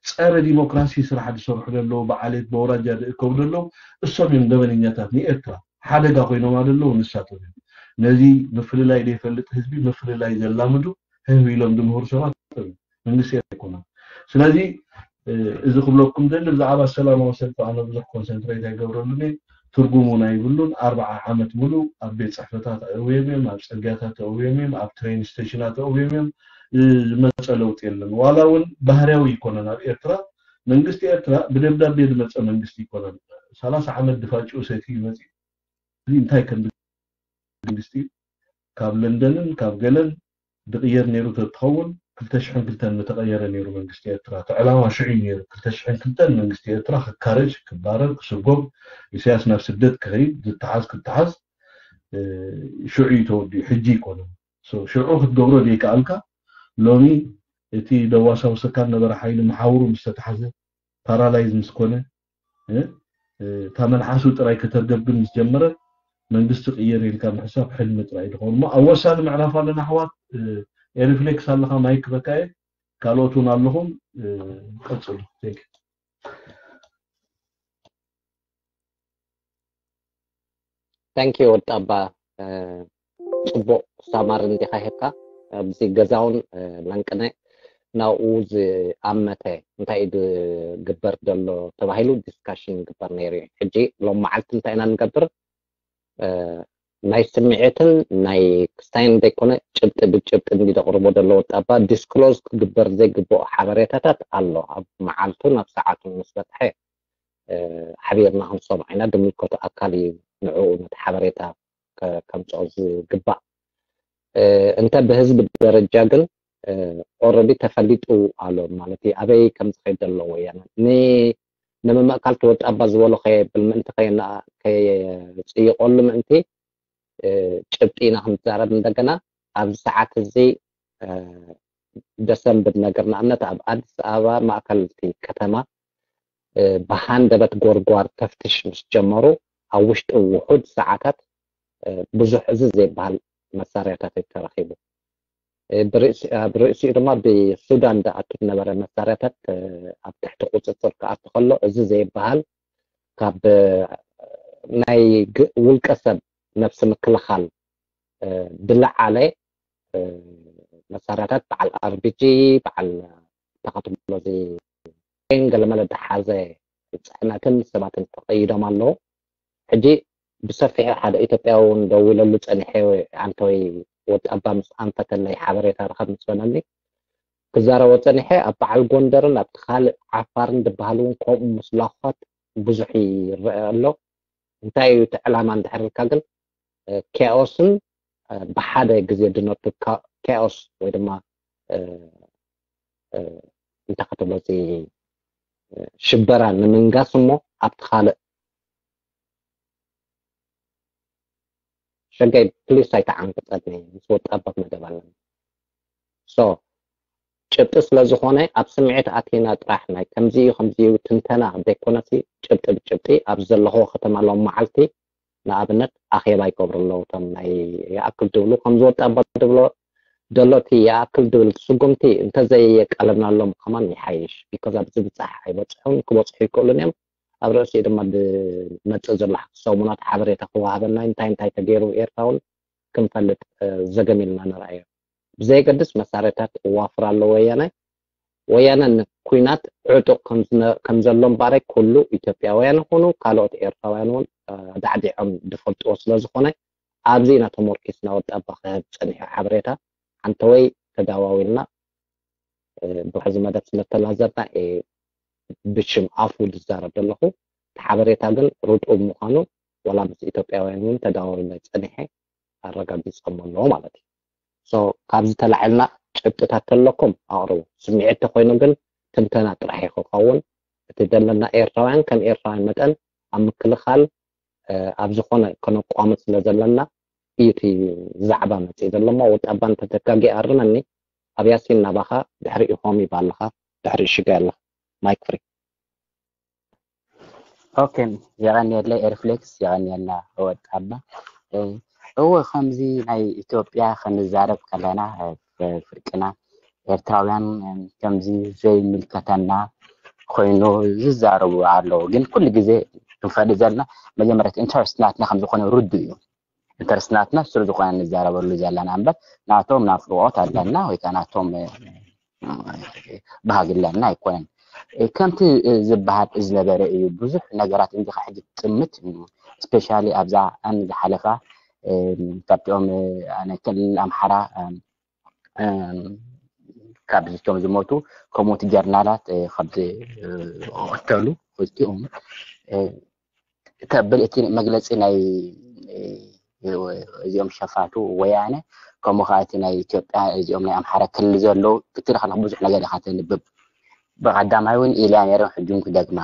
ፀረ ዲሞክራሲ ስራሕ ዝሰርሑ ዘለዉ ብዓሌት በውራጃ ዝእከቡ ዘለዉ እሶም እዮም ደበነኛታት ንኤርትራ ሓደጋ ኮይኖማ ዘለዉ ንሳቶም እዮም። ነዚ ምፍልላይ ዘይፈልጥ ህዝቢ ምፍልላይ ዘላምዱ ህህብ ኢሎም ዝምህሩ ሰባት እዮም። መንግስቲ ኣይኮነን። ስለዚ እዚ ክብለኩም ደሊ ብዛዕባ ሰላማዊ ሰልፊ ኣነ ብዙሕ ኮንሰንትሬት ኣይገብረሉን እየ። ትርጉም እውን ኣይብሉን። ኣርባዓ ዓመት ሙሉእ ኣብ ቤት ፅሕፈታት ኣእውዮም እዮም፣ ኣብ ፅርግያታት ኣእውዮም እዮም፣ ኣብ ትሬን ስቴሽናት ኣእውዮም እዮም። ዝመፀ ለውጢ የለን። ዋላ እውን ባህርያዊ ይኮነን ኣብ ኤርትራ መንግስቲ ኤርትራ ብደብዳቤ ዝመፀ መንግስቲ ይኮነን። ሰላሳ ዓመት ድፋጭኡ ሰትዩ መፂኡ እዚ እንታይ ከም መንግስቲ ካብ ለንደንን ካብ ገለን ዝቕየር ነይሩ ተትኸውን ክልተ ሽሕን ክልተን ምተቐየረ ነይሩ መንግስቲ ኤርትራ። እቲ ዕላማ ሽዑ እዩ ነይሩ። ክልተ ሽሕን ክልተን መንግስቲ ኤርትራ ክካረጅ፣ ክባረር፣ ክስጎግ፣ ኢሳያስ ናብ ስደት ክኸይድ፣ ዝተሓዝ ክተሓዝ ሽዑ እዩ ተወዲኡ፣ ሕጂ ይኮነን። ሽዑ ክትገብሮ ዘይከኣልካ ሎሚ እቲ ደዋሳውሰካ ነበረ ሓይሊ መሓውሩ ምስ ተታሕዘ ፓራላይዝ ምስ ኮነ እታ መልሓሱ ጥራይ ከተርገብግብ ምስ ጀመረት መንግስቲ ቅየር ኢልካ ምሕሳብ ሕልሚ ጥራይ ዝኸውን እሞ ኣብ ወሳኒ ምዕራፍ ኣለና ኣሕዋት። ኤሪፍሌክስ ኣለካ ማይክ በቃየ ካልኦት እውን ኣለኹም ቀፅሉ። Thank you ወጣባ። ጽቡቕ ሳማሪ እንዲኻ ሂብካ ኣብዚ ገዛውን ለንቅነ ናብኡ ዝኣመተ እንታይ እዩ ዝግበር ዘሎ ተባሂሉ ዲስካሽን ይግበር ነይሩ እዩ። ሕጂ ሎም መዓልቲ እንታይ ኢና ንገብር? ናይ ስምዒትን ናይ ክስታይን ዘይኮነ ጭብጢ ብጭብጢ እንዲ ዘቕርቦ ዘሎ ወጣባ ዲስክሎዝ ክግበር ዘይግብኦ ሓበሬታታት ኣሎ። ኣብ መዓልቱን ኣብ ሰዓቱን ምስ በፅሐ ሓቢርና ክንሰምዖ ኢና። ዝምልከቶ ኣካል እዩ ንዕኡ ነቲ ሓበሬታ ከምፅኦ ዝግባእ። እንተ ብህዝቢ ደረጃ ግን ኦረዲ ተፈሊጡ ኣሎ ማለት እዩ። ኣበይ ከም ዝኸይድ ዘለዎ እያ ንምምእካል ትወጣባ ዝበሎ ከየብል ምእንቲ ከየፅይቀሉ ምእንቲ ጭብጢ ኢና ክንዛረብ እንደገና ኣብዚ ሰዓት እዚ ደሰንብድ ነገር ንኣብነት ኣብ ኣዲስ ኣበባ ማእከልቲ ከተማ ብሃንደበት ጎርጓር ተፍትሽ ምስ ጀመሩ ኣብ ውሽጢ ውሑድ ሰዓታት ብዙሕ እዚ ዘይበሃል መሳርያታት እዩ ተረኺቡ። ብርእሲኡ ድማ ብሱዳን ዝኣቱ ዝነበረ መሳርያታት ኣብ ትሕቲ ቁፅፅር ክኣቱ ከሎ እዚ ዘይበሃል ካብ ናይ ውልቀ ሰብ ነብሲ ምክልኻል ዝለዓለ መሳርያታት በዓል ኣርቢጂ በዓል ተኸትሎ ገለመለ ዝሓዘ ፅዕነትን ሰባትን ተቐይዶም ኣለዉ። ሕጂ ብሰፊሑ ሓደ ኢትዮጵያዊ እውን ደዊለሉ ፀኒሐ ኣንተወይ ወጣባ ምስ ኣንፈተለይ ሓበሬታ ረኸብ ምስ በለኒ ክዛረቦ ፀኒሐ ኣብ በዓል ጎንደርን ኣብቲ ካልእ ዓፋርን ዝበሃል እውን ከምኡ ምስላኾት ብዙሕ ይረአ ኣሎ። እንታይ እዩ እቲ ዕላማ እንድሕር ኢልካ ግን ኬኦስን ብሓደ ግዜ ድነቱ ኬኦስ ወይ ድማ እንታይ ክትብሎ እቲ ሽበራ ንምንጋስ እሞ ኣብቲ ካልእ ሸጋይ ፕሊስ ኣይተዓንቅፀኒ ምስ ወጣባት መደብ ኣለና ሶ ጭብጢ ስለ ዝኾነ ኣብ ስምዒት ኣቲና ጥራሕ ናይ ከምዚ እዩ ከምዚ እዩ ትንተና ዘይኮነሲ ጭብጢ ብጭብጢ ኣብዚ ዘለኽዎ ከተማ ሎም መዓልቲ ንኣብነት ኣኼባ ይገብሩ ኣለዉ እቶም ናይ ይኣክል ድብሉ ከምዚ ወጣ ኣባ ድብሎ ደሎ እቲ ይኣክል ድብል ስጉምቲ እንተዘየቃለብናሎም ከማን ይሓይሽ because ኣብዚ ብፃሕ ኣይበፅሑን ክበፅሑ ይክእሉን እዮም ኣብ ርእሲኡ ድማ ብመፅእ ዘሎ ሰሙናት ሓበሬታ ክወሃበና እንታይ እንታይ ተገይሩ ኤርትራ እውን ክንፈልጥ ዘገም ኢልና ንርኣዮ ብዘየገድስ መሳርያታት እዋፍር ኣሎ ወያነ ወያነ ንኩናት ዕጡቕ ከም ዘሎ እምበኣረይ ኩሉ ኢትዮጵያውያን ይኹኑ ካልኦት ኤርትራውያን እውን ኣዳዕዲዖም ዝፈልጥዎ ስለ ዝኾነ ኣብዚ ኢና ተሞርኪስና ወጣባ ክህብ ፀኒሑ ሓበሬታ ሓንተወይ ተዳዋዊልና ብሕዚ መደብ ስለተላዘብና ብሽም ኣፉ ዝዛረብ ዘለኹ እቲ ሓበሬታ ግን ርጡብ ምዃኑ ዋላ ምስ ኢትዮጵያውያን እውን ተዳዋዊለ ፀኒሐ ኣረጋጊፆም ኣለዎ ማለት እዩ። So ካብዚ ተላዒልና ጭብጥታት ተለኩም ኣቕርቡ። ስምዒት ተኮይኑ ግን ትንተና ጥራሕ እዩ ክኸውን። እቲ ዘለና ኤርትራውያን ከም ኤርትራውያን መጠን ኣብ ምክልኻል ኣብ ዝኾነ ከነቋምት ስለ ዘለና እዩ እቲ ዛዕባ መፅእ ዘሎ እሞ ወጣባ እንተተጋጊ ኣርመኒ ኣብ ያሲን ናባኻ ድሕሪ ኢኾም ይባልኻ ድሕሪ ሽጋ ኣለኻ ማይክ ፍሪ ኦኬ የቐንየለይ ኤርፍሌክስ የቐንየልና ወጣባ እወ ከምዚ ናይ ኢትዮጵያ ክንዛረብ ከለና ፍርቅና ኤርትራውያን ከምዚ ዘይምልከተና ኮይኑ ዝዛረቡ ኣለዉ ግን ኩሉ ግዜ ክንፈልጥ ዘለና መጀመርያ ኢንተረስት ናትና ከም ዝኾነ ርዱ እዩ ኢንተረስት ናትና ስሩ ዝኾነ ንዛረበሉ ዘለና እምበር ናቶም ናፍቆት ኣለና ወይ ከዓ ናቶም ባህግለና ኣይኮነን ከምቲ ዝበሃል ዝነበረ እዩ ብዙሕ ነገራት እንዲኻ ሕጂ ትጥምት ስፔሻሊ ኣብዛ ኣን ዝሓለፋ ካብቲኦም ክልል ኣምሓራ ካብ ዝቶም ዝሞቱ ከምኡቲ ጀርናላት ካብ ዝቀተሉ ክልቲኦም ተብል እቲ መግለፂ ናይ እዚኦም ሸፋቱ ወያነ ከምኡ ከዓ እቲ ናይ ኢትዮጵያ እዚኦም ናይ ኣምሓራ ክልል ዘለዉ ክትርኢ ከለካ ብዙሕ ነገር ኢካ ተንብብ ብቀዳማይ እውን ኢልያ ነይሮም ሕጂ እውን ክደግማ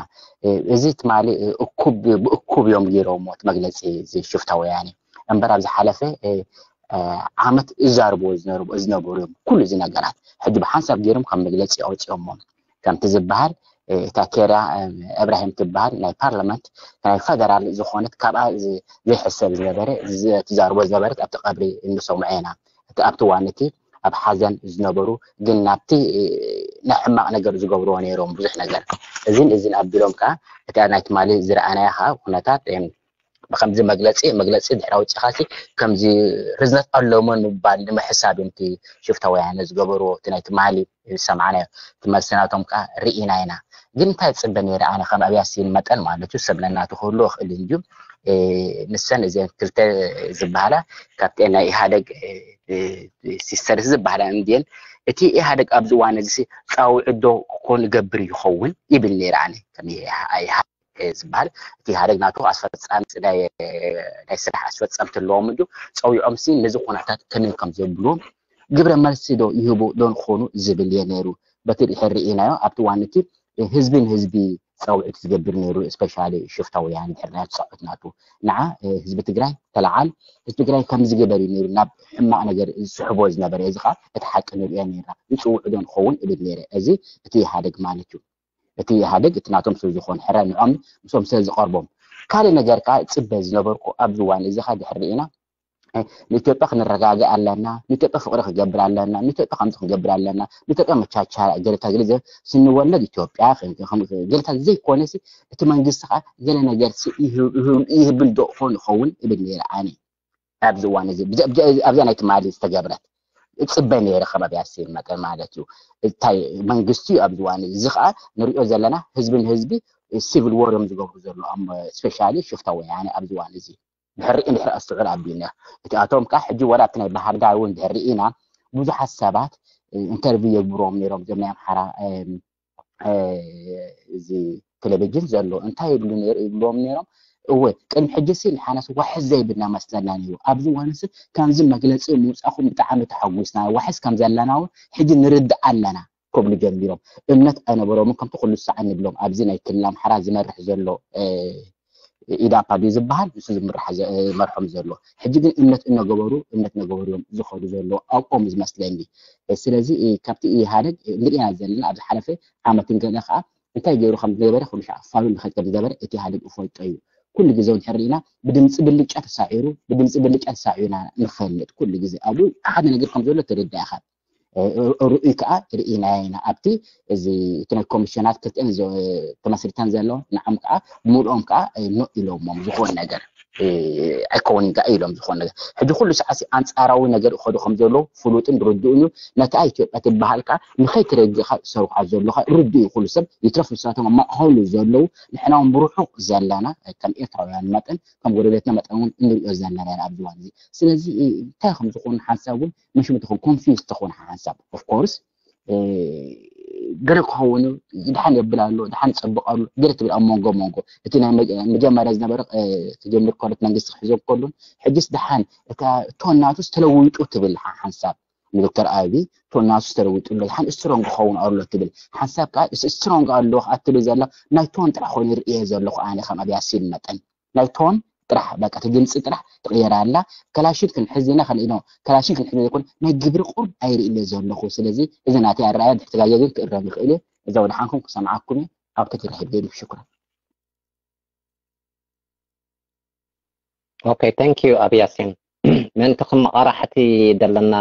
እዚ ትማሊ እኩብ ብእኩብ እዮም ገይሮምዎ እቲ መግለፂ እዚ ሽፍታ ወያነ እምበር ኣብ ዝሓለፈ ዓመት እዛርብዎ ዝነበሩ እዮም ኩሉ እዚ ነገራት ሕጂ ብሓንሳብ ገይሮም ካብ መግለፂ ኣውፅኦሞ ከምቲ ዝበሃል እታ ኬርያ እብራሂም ትበሃል ናይ ፓርላመንት ናይ ፈደራል ዝኾነት ካብኣ ዘይሕሰብ ዝነበረ ትዛርቦ ዝነበረት ኣብቲ ቀብሪ እንሰምዖ ኢና እቲ ኣብቲ ዋን እቲ ኣብ ሓዘን ዝነበሩ ግን ናብቲ ናይ ሕማቕ ነገር ዝገብርዎ ነይሮም ብዙሕ ነገር እዚን እዚን ኣቢሎም ከዓ እቲ ናይ ትማሊ ዝረኣናዮ ከዓ ኩነታት ብከምዚ መግለፂ መግለፂ ድሕሪ ኣውፂኻሲ ከምዚ ርዝነት ኣለዎ ምባል ንምሕሳብ እዮም እቲ ሽፍታ ወያነ ዝገበርዎ። እቲ ናይ ትማሊ ዝሰማዕናዮ እቲ መልሲ ናቶም ከዓ ርኢና ኢና። ግን እንታይ ዝፅበ ነይረ ኣነ ከም ኣብያሲን መጠን ማለት እዩ ሰብ ነናቱ ክህሉ ይኽእል እንድዩ። ንሰን እዚአን ክልተ ዝበሃላ ካብተን ናይ ኢህኣደግ ሲስተርስ ዝበሃላ እንድየን እቲ ኢህኣደግ ኣብዚ እዋን እዚ ፃውዒት ዶ ኮን ገብር ይኸውን ይብል ነይረ ኣነ ከም ዝበሃል እቲ ኢህኣደግ ናቱ ኣስፈፃሚ ናይ ስራሕ ኣስፈፀምቲ ኣለዎም እንድዩ ፀዊዖም ሲ ነዚ ኩነታት ከመይ ከም ዘብልዎም ግብረ መልሲ ዶ ይህቡ ዶ ንኾኑ ዝብል እየ ነይሩ። በቲ ድሕር ርኢናዮ ኣብቲ ዋንቲ ህዝቢ ንህዝቢ ፃውዒት ዝገብር ነይሩ። ስፔሻሊ ሽፍታ ወያነ ድሕር ናይ ፃውዒት ናቱ ንዓ ህዝቢ ትግራይ ተለዓል ህዝቢ ትግራይ ከም ዝገበር እዩ ነይሩ ናብ ሕማቕ ነገር ዝስሕቦ ዝነበረ እዚ ከዓ እቲ ሓቂ ንሪኦ ነይርና ይፅውዑ ዶ ንኸውን እብል ነይረ። እዚ እቲ ኢህኣደግ ማለት እዩ። እቲ ኢህኣደግ እቲ ናቶም ስለ ዝኾነ ሕረ ንዖም ምስኦም ስለ ዝቐርቦም ካልእ ነገር ከዓ ፅበ ዝነበርኩ ኣብዚ እዋን እዚ ከዓ ድሕር ርኢና ንኢትዮጵያ ክንረጋግእ ኣለና፣ ንኢትዮጵያ ፍቕሪ ክገብር ኣለና፣ ንኢትዮጵያ ከምዚ ክንገብር ኣለና፣ ንኢትዮጵያ መቻቻ ገለታ ገለ ስንወለድ ኢትዮጵያ ገለታ ዘይኮነ እቲ መንግስቲ ከዓ ገለ ነገር ይህብል ዶ ኾን ይኸውን እብል ነይረ ኣነ ኣብዚ እዋን እዚ ኣብዛ ናይ ትማሊ ዝተገብረት እፅበ ነይረ ከባቢ ኣሴን መጠን ማለት እዩ። እንታይ መንግስቲ እዩ ኣብዚ እዋን እዚ ከዓ ንሪኦ ዘለና ህዝቢ ንህዝቢ ሲቪል ወር እዮም ዝገብሩ ዘለዎም ስፔሻሊ ሽፍታ ወያነ ኣብዚ እዋን እዚ ድሕሪ ድሕሪ ኣስዑር ኣቢልና እቲኣቶም ከዓ ሕጂ ወላ ኣብቲ ናይ ባህር ዳር እውን ድሕሪ ኢና ብዙሓት ሰባት ኢንተርቪው የግብሮም ነይሮም እዞም ናይ ኣምሓራ እዚ ቴሌቪዥን ዘሎ እንታይ ይብሉ ነይሩ ይብልዎም ነይሮም። እወ ቅድሚ ሕጂ ሲ ንሓናስ ዋሕስ ዘይብልና መስለና ነይሩ። ኣብዚ እዋን ሲ ከምዚ መግለፂ ምውፃእኩም ብጣዕሚ ተሓጒስና። ዋሕስ ከም ዘለና እውን ሕጂ ንርዳእ ኣለና ክብሉ ጀሚሮም። እምነት ኣይነበሮምን ከምቲ ኩሉ ሳዕ ንብሎም ኣብዚ ናይ ክልል ኣምሓራ ዝመርሕ ዘሎ ኢዳፓ ድዩ ዝበሃል ንሱ ዝምራሕ ይመርሖም ዘሎ ሕጂ ግን እምነት እነገበሩ እምነት ነገበሩ እዮም ዝኸዱ ዘሎ ኣብኦም ዝመስለኒ። ስለዚ ካብቲ ኢህኣደግ ንሪኢና ዘለና ኣብ ዝሓለፈ ዓመትን ገለ ከዓ እንታይ ገይሩ ከም ዝነበረ ኩሉ ሻዕ ፋሉ ንኸድ ከም ዝነበረ እቲ ኢህኣደግ እፈልጦ እዩ። ኩሉ ግዜ እውን ሕርኢና ብድምፂ ብልጫ ተሳዒሩ ብድምፂ ብልጫ ተሳዒሩና ንፈልጥ ኩሉ ግዜ ኣብኡ ሓደ ነገር ከም ዘሎ ተረዳእኻ ርኡይ ከዓ ርኢናዮ ኢና ኣብቲ እዚ እቲ ናይ ኮሚሽናት ክልተን ተመስሪተን ዘለዋ ንዓም ከዓ ብምልኦም ከዓ ኖ ኢሎሞም ዝኾን ነገር ኣይከውን ጋ ኢሎም ዝኾን ነገር ሕጂ ኩሉ ሰዓት ኣንፃራዊ ነገር ይኸዱ ከም ዘለዉ ፍሉጥን ርዱእን እዩ። ነታ ኢትዮጵያ ትበሃል ከዓ ንኸይትረግእ ከዓ ዝሰርሑ ዘለዉ ከዓ ርዱእ እዩ። ኩሉ ሰብ ይትረፍ ንሳቶም ኣብ ማእኸሉ ዘለዉ ንሕና እውን ብርሑቕ ዘለና ከም ኤርትራውያን መጠን ከም ጎረቤትና መጠን እውን እንሪኦ ዘለና ኢና ኣብዚ እዋን እዚ። ስለዚ እንታይ ከም ዝኾኑ ሓንሳብ እውን መሽሙ ትኾን ኮንፊውዝ ትኾን ሓንሳብ ኦፍኮርስ ገለ ክኸውን ድሓን የብል ኣሎ ድሓን ይፀብቕ ኣሎ ገለ ትብል ኣብ መንጎ መንጎ እቲ ናይ መጀመርያ ዝነበረ ትጀምር ከሎት መንግስቲ ክሕዞም ከሉን ሕጅስ ድሓን እታ ቶን ናቱስ ተለዊጡ ትብል ሓንሳብ ንዶክተር ኣቢ ቶን ናቱስ ተለዊጡ ኣሎ ድሓን ስትሮንግ ክኸውን ኣሎ ትብል ሓንሳብ ከዓ ስትሮንግ ኣሎ ከዓ ትብል ዘላ ናይ ቶን ጥራሕ ኮይኑ ርእየ ዘለኹ ኣነ ከም ኣብያሲን መጠን ናይ ቶን ጥራሕ በቃ እቲ ድምፂ ጥራሕ ትቕየር ኣላ። ከላሽን ክንሕዝ ኢና ከለ ኢሎም ከላሽን ክንሕዝ ዘይኮን ናይ ግብሪ ቁርብ ኣይርኢ እለ ዘለኹ። ስለዚ እዚ ናተይ ኣረኣያ ድሕትጋየ ግን ክእረም ይኽእል እየ። እዛ ወድሓንኩም ክሰምዓኩም እየ። ኣብ ከቲ ረኺብ ገይሩ ሽኩራን። ኦኬ thank you ኣብ ያሲን ምእንቲ ክመቓራሕቲ ዘለና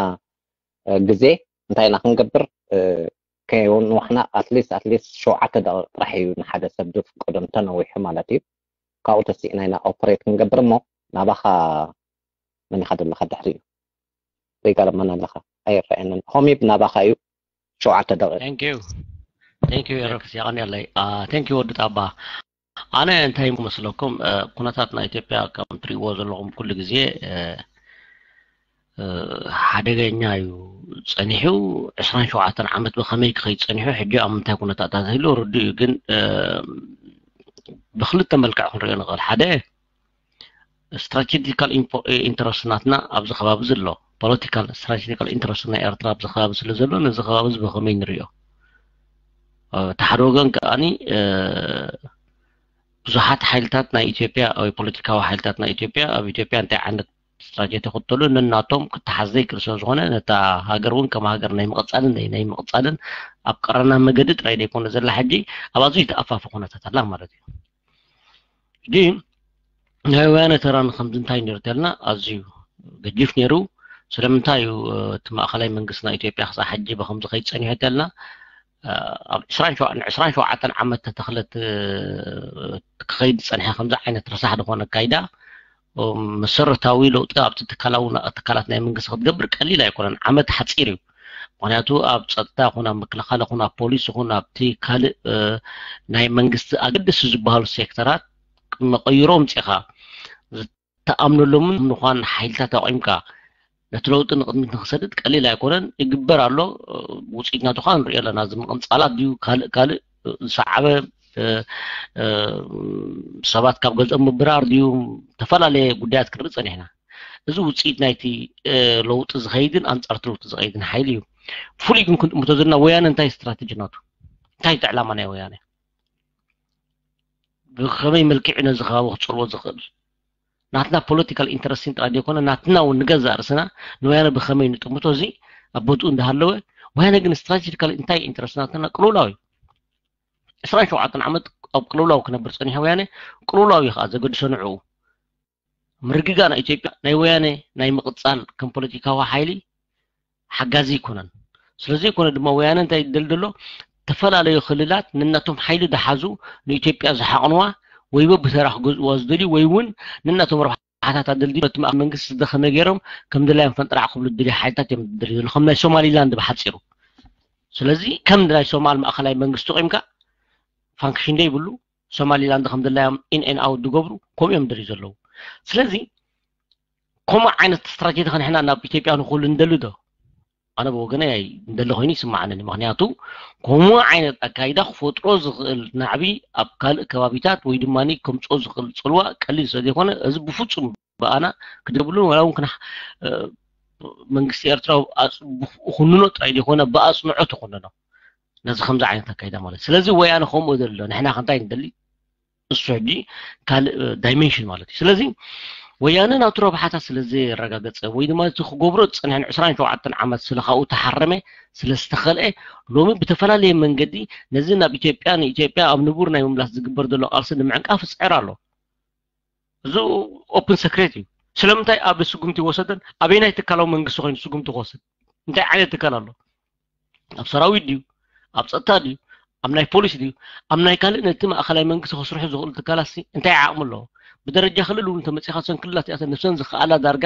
ግዜ እንታይ ኢና ክንገብር ከይንዋሕና ኣትሊስት ኣትሊስት ሸውዓተ ደቂቕ ጥራሕ እዩ ንሓደ ሰብ ዝፍቀዶ እንተነዊሑ ማለት እዩ። ካብኡ ተሲእና ኢና ኦፕሬት ክንገብር እሞ ናባኻ መን ኢኻ ዘለኻ ድሕሪኡ ዘይጋለመና ኣለኻ ኣይረኣየንን ሆሚብ ናባኻ እዩ ሸውዓተ ደቂቕ Thank you thank you ኤረክስ የቐንየለይ thank you ወዲ ጣባ ኣነ እንታይ መስለኩም ኩነታት ናይ ኢትዮጵያ ከም ትሪእዎ ዘለኹም ኩሉ ግዜ ሓደገኛ እዩ ጸኒሑ ዕስራን ሸውዓተን ዓመት ብኸመይ ክኸይድ ጸኒሑ ሕጂ ኣብ ምንታይ ኩነታት ኣታትህሉ ርዱ እዩ ግን ብክልተ መልክዕ ክንሪኦ ንኽእል ሓደ strategical interest ናትና ኣብዚ ከባቢ ዘሎ political strategical interest ናይ ኤርትራ ኣብዚ ከባቢ ስለ ዘሎ ነዚ ከባቢ እዚ ብኸመይ ንሪኦ እቲ ሓደ ወገን ከኣኒ ብዙሓት ሓይልታት ናይ ኢትዮጵያ ወይ ፖለቲካዊ ሓይልታት ናይ ኢትዮጵያ ኣብ ኢትዮጵያ እንታይ ዓይነት ስትራቴጂ ተኽተሉ ነናቶም ክተሓዝ ዘይክእል ስለ ዝኾነ ነታ ሃገር እውን ከም ሃገር ናይ ምቕፃልን ናይ ናይ ምቕፃልን ኣብ ቀረና መገዲ ጥራይ ዘይኮነ ዘላ ሕጂ ኣብ ኣዝዩ ተኣፋፊ ኩነታት ኣላ ማለት እዩ ሕጂ ናይ ወያነ ተራ ንከምዚ እንታይ ነይሩ ተልና ኣዝዩ ገዲፍ ነይሩ ስለምንታይ እዩ እቲ ማእኸላይ መንግስቲ ናይ ኢትዮጵያ ክሳብ ሕጂ ብከምዚ ከይፀኒሑ ተልና ኣብ ዕስራን ሸውዓተን ዓመት ተተኽለት ክኸይድ ዝፀንሐ ከምዚ ዓይነት ረሳሕ ዝኾነ ኣካይዳ መሰረታዊ ለውጢ ኣብቲ ትካላዊ ትካላት ናይ መንግስቲ ክትገብር ቀሊል ኣይኮነን። ዓመት ሓፂር እዩ። ምክንያቱ ኣብ ፀጥታ ይኹን ኣብ ምክልኻል ይኹን ኣብ ፖሊስ ይኹን ኣብቲ ካልእ ናይ መንግስቲ ኣገደሲ ዝበሃሉ ሴክተራት መቐይሮ ምፅኻ ዝተኣምነሎምን ምዃን ሓይልታት ኣቑምካ ነቲ ለውጢ ንቕድሚት ንክሰድድ ቀሊል ኣይኮነን። ይግበር ኣሎ። ውፅኢት ናቱ ከዓ ንሪኦ ኣለና። እዚ ምቕንፃላት ድዩ ካልእ ካልእ ዝሰዓበ ሰባት ካብ ገዝኦም ምብራር ድዩ ዝተፈላለየ ጉዳያት ክንርኢ ፀኒሕና። እዚ ውፅኢት ናይቲ ለውጢ ዝኸይድን ኣንፃርቲ ለውጢ ዝኸይድን ሓይሊ እዩ። ፍሉይ ግን ክንጥምቶ ዘለና ወያነ እንታይ ስትራቴጂ ናቱ እንታይ እቲ ዕላማ ናይ ወያነ ብከመይ መልክዕ ነዚ ከባቢ ክፀልዎ ዝኽእል ናትና ፖለቲካል ኢንተረስቲን ጥራይ ዘይኮነ ናትና እውን ንገዛእ ርእስና ንወያነ ብከመይ ንጥምቶ እዚ ኣብ ቦትኡ እንዳሃለወ ወያነ ግን ስትራቴጂካል እንታይ ኢንተረስት ናትና ቅልውላው እዩ። ዕስራን ሸውዓተን ዓመት ኣብ ቅልውላው ክነብር ፀኒሑ ወያነ ቅልውላው እዩ ከዓ ዘገድሶ ንዕኡ። ምርግጋእ ናይ ኢትዮጵያ ናይ ወያነ ናይ ምቕፃል ከም ፖለቲካዊ ሓይሊ ሓጋዚ ኣይኮነን። ስለዘይኮነ ድማ ወያነ እንታይ ይደል ዘሎ ዝተፈላለዩ ክልላት ነናቶም ሓይሊ ዝሓዙ ንኢትዮጵያ ዝሓቕንዋ ወይ በብተራ ክገዝእዋ ዝደልዩ ወይ እውን ነናቶም ረብሓታት ኣደልድዩ ነቲ ማእኸል መንግስቲ ዝደኸመ ገይሮም ከም ድላዮም ፈንጥራዕ ክብሉ ዝደልዩ ሓይልታት እዮም ዝደልዩ ዘለዉ ከም ናይ ሶማሊላንድ ብሓፂሩ። ስለዚ ከም ናይ ሶማል ማእኸላይ መንግስቲ ቆይምካ ፋንክሽን ዘይብሉ ሶማሊላንድ ከም ድላዮም ኢን ኤን ኣውት ዝገብሩ ከምኡ እዮም ዝደልዩ ዘለዉ። ስለዚ ከምኡ ዓይነት ስትራቴጂ ከንሕና ናብ ኢትዮጵያ ንክህሉ ንደሊ ዶ? ኣነ ብወገነይ ኣይንደሊ ኮይኑ ይስማዓኒ። ምክንያቱ ከምኡ ዓይነት ኣካይዳ ክፈጥሮ ዝኽእል ናዕቢ ኣብ ካልእ ከባቢታት ወይ ድማ ከምፅኦ ዝኽእል ፅልዋ ቀሊል ስለ ዘይኮነ እዚ ብፍፁም ብኣና ክደብሉ ዋላ እውን ክና መንግስቲ ኤርትራ ክንኖ ጥራይ ዘይኮነ ብኣፅንዖት ይኮነኖ ነዚ ከምዚ ዓይነት ኣካይዳ ማለት። ስለዚ ወያነ ከምኡ ዘሎ ንሕና ከንታይ ንደሊ እሱ ሕጂ ካልእ ዳይሜንሽን ማለት እዩ። ስለዚ ወያነ ናቱ ረብሓታት ስለ ዘየረጋገፀ ወይ ድማ እቲ ክገብሮ ዝፀንሐን ዕስራን ሸውዓተን ዓመት ስለ ካብኡ ተሓረመ ስለ ዝተኸልአ ሎሚ ብተፈላለየ መንገዲ ነዚ ናብ ኢትዮጵያ ንኢትዮጵያ ኣብ ንቡር ናይ ምምላስ ዝግበር ዘሎ ቃልሲ ንምዕንቃፍ ይፅዕር ኣሎ። እዚ ኦፕን ሰክሬት እዩ። ስለምንታይ ኣብ ስጉምቲ ይወሰደን ኣበይናይ ትካላዊ መንግስቲ ኮይኑ ስጉምቲ ክወስድ እንታይ ዓይነት ትካል ኣሎ? ኣብ ሰራዊት ድዩ ኣብ ፀጥታ ድዩ ኣብ ናይ ፖሊስ ድዩ ኣብ ናይ ካልእ ነቲ ማእኸላይ መንግስቲ ከስርሑ ዝኽእሉ ትካላት እንታይ ዓቕሚ ኣለዎ? ብደረጃ ክልል እውን ተመፂኻ ሰን ክልላት እዚኣተን ነብሰን ዝኽኣላ ዳርጋ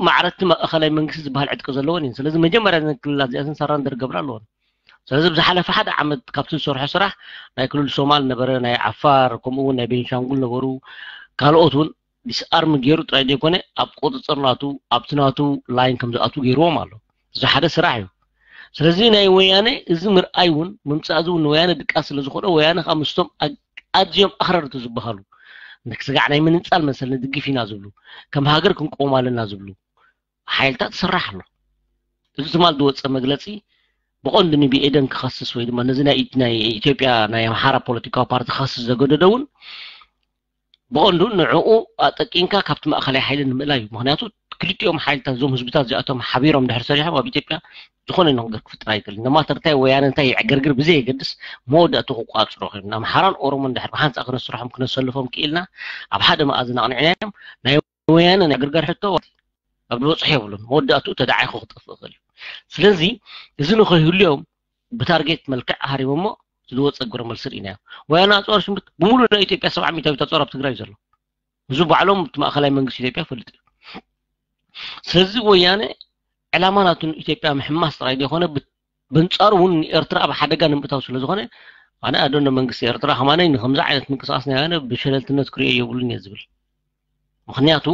ማዕረቲ ማእኸላይ መንግስቲ ዝበሃል ዕጥቂ ዘለወን እየን። ስለዚ መጀመርያ ዘን ክልላት እዚኣተን ሰራንደር ገብራ ኣለወን። ስለዚ ብዝሓለፈ ሓደ ዓመት ካብቲ ዝሰርሖ ስራሕ ናይ ክልል ሶማል ነበረ፣ ናይ ዓፋር ከምኡ እውን ናይ ቤንሻንጉል ነበሩ፣ ካልኦት እውን ዲስኣርም ገይሩ ጥራይ ዘይኮነ ኣብ ቁፅፅር ናቱ ኣብቲ ናቱ ላይን ከም ዝኣትዉ ገይርዎም ኣሎ። እዚ ሓደ ስራሕ እዩ። ስለዚ ናይ ወያነ እዚ ምርኣይ እውን ምምፃእ እዚ እውን ንወያነ ድቃስ ስለ ዝኾነ ወያነ ከዓ ምስቶም ኣዝዮም ኣኽረርቲ ዝበሃሉ ስጋዕ ናይ ምንፃል መሰል ንድግፍ ኢና ዝብሉ ከም ሃገር ክንቆም ኣለና ዝብሉ ሓይልታት ይስራሕ ኣሎ። እዚ ትማል ዝወፀ መግለፂ ብቐንዱ ንብኤደን ክኸስስ ወይ ድማ ነዚ ናይ ናይ ኢትዮጵያ ናይ ኣምሓራ ፖለቲካዊ ፓርቲ ክኸስስ ዘገደዶ እውን ብቐንዱ ንዕኡ ኣጠቂንካ ካብቲ ማእኸላይ ሓይሊ ንምእላይ እዩ። ምክንያቱ ክልቲኦም ሓይልታት እዞም ህዝብታት እዚኣቶም ሓቢሮም ድሕር ሰሪሖም ኣብ ኢትዮጵያ ዝኾነ ነገር ክፍጥር ኣይክእል። ነማተርታይ ወያነ እንታይ ይዕገርግር ብዘየገድስ መወዳእቱ ክቋፅሮ ኮይኑ ኣምሓራን ኦሮሞን ድሕር ብሓንፃ ክነስርሖም ክነሰልፎም ክኢልና ኣብ ሓደ መኣዝን ኣቕኒዕናዮም ናይ ወያነ ናይ ግርጋር ሕቶ ኣብ ዝበፅሑ የብሉን። መወዳእትኡ ተዳዓይኹ ክጠፍእ ይኽእል እዩ። ስለዚ እዚ ንኸይህሉ እዮም ብታርጌት መልክዕ ሃሪሞሞ ዝወፀ ግብረ መልሲ ርኢናዮ። ወያነ ኣፅዋር ሽምብት ብምሉእ ናይ ኢትዮጵያ ሰብዓ ሚእታዊት ኣፅዋር ኣብ ትግራይ እዩ ዘሎ። እዚ ባዕሎም እቲ ማእኸላይ መንግስቲ ኢትዮጵያ ፈልጥ እዩ። ስለዚ ወያነ ዕላማ ናቱ ንኢትዮጵያ ምሕማስ ጥራይ ዘይኮነ ብንፃሩ እውን ንኤርትራ ኣብ ሓደጋ ንምእታው ስለ ዝኾነ ኣነ ኣደኖ መንግስቲ ኤርትራ ከማነይ ንከምዚ ዓይነት ምንቅስቃስ ናይ ወያነ ብሸለልትነት ክሪኦ የብሉን እየ ዝብል። ምክንያቱ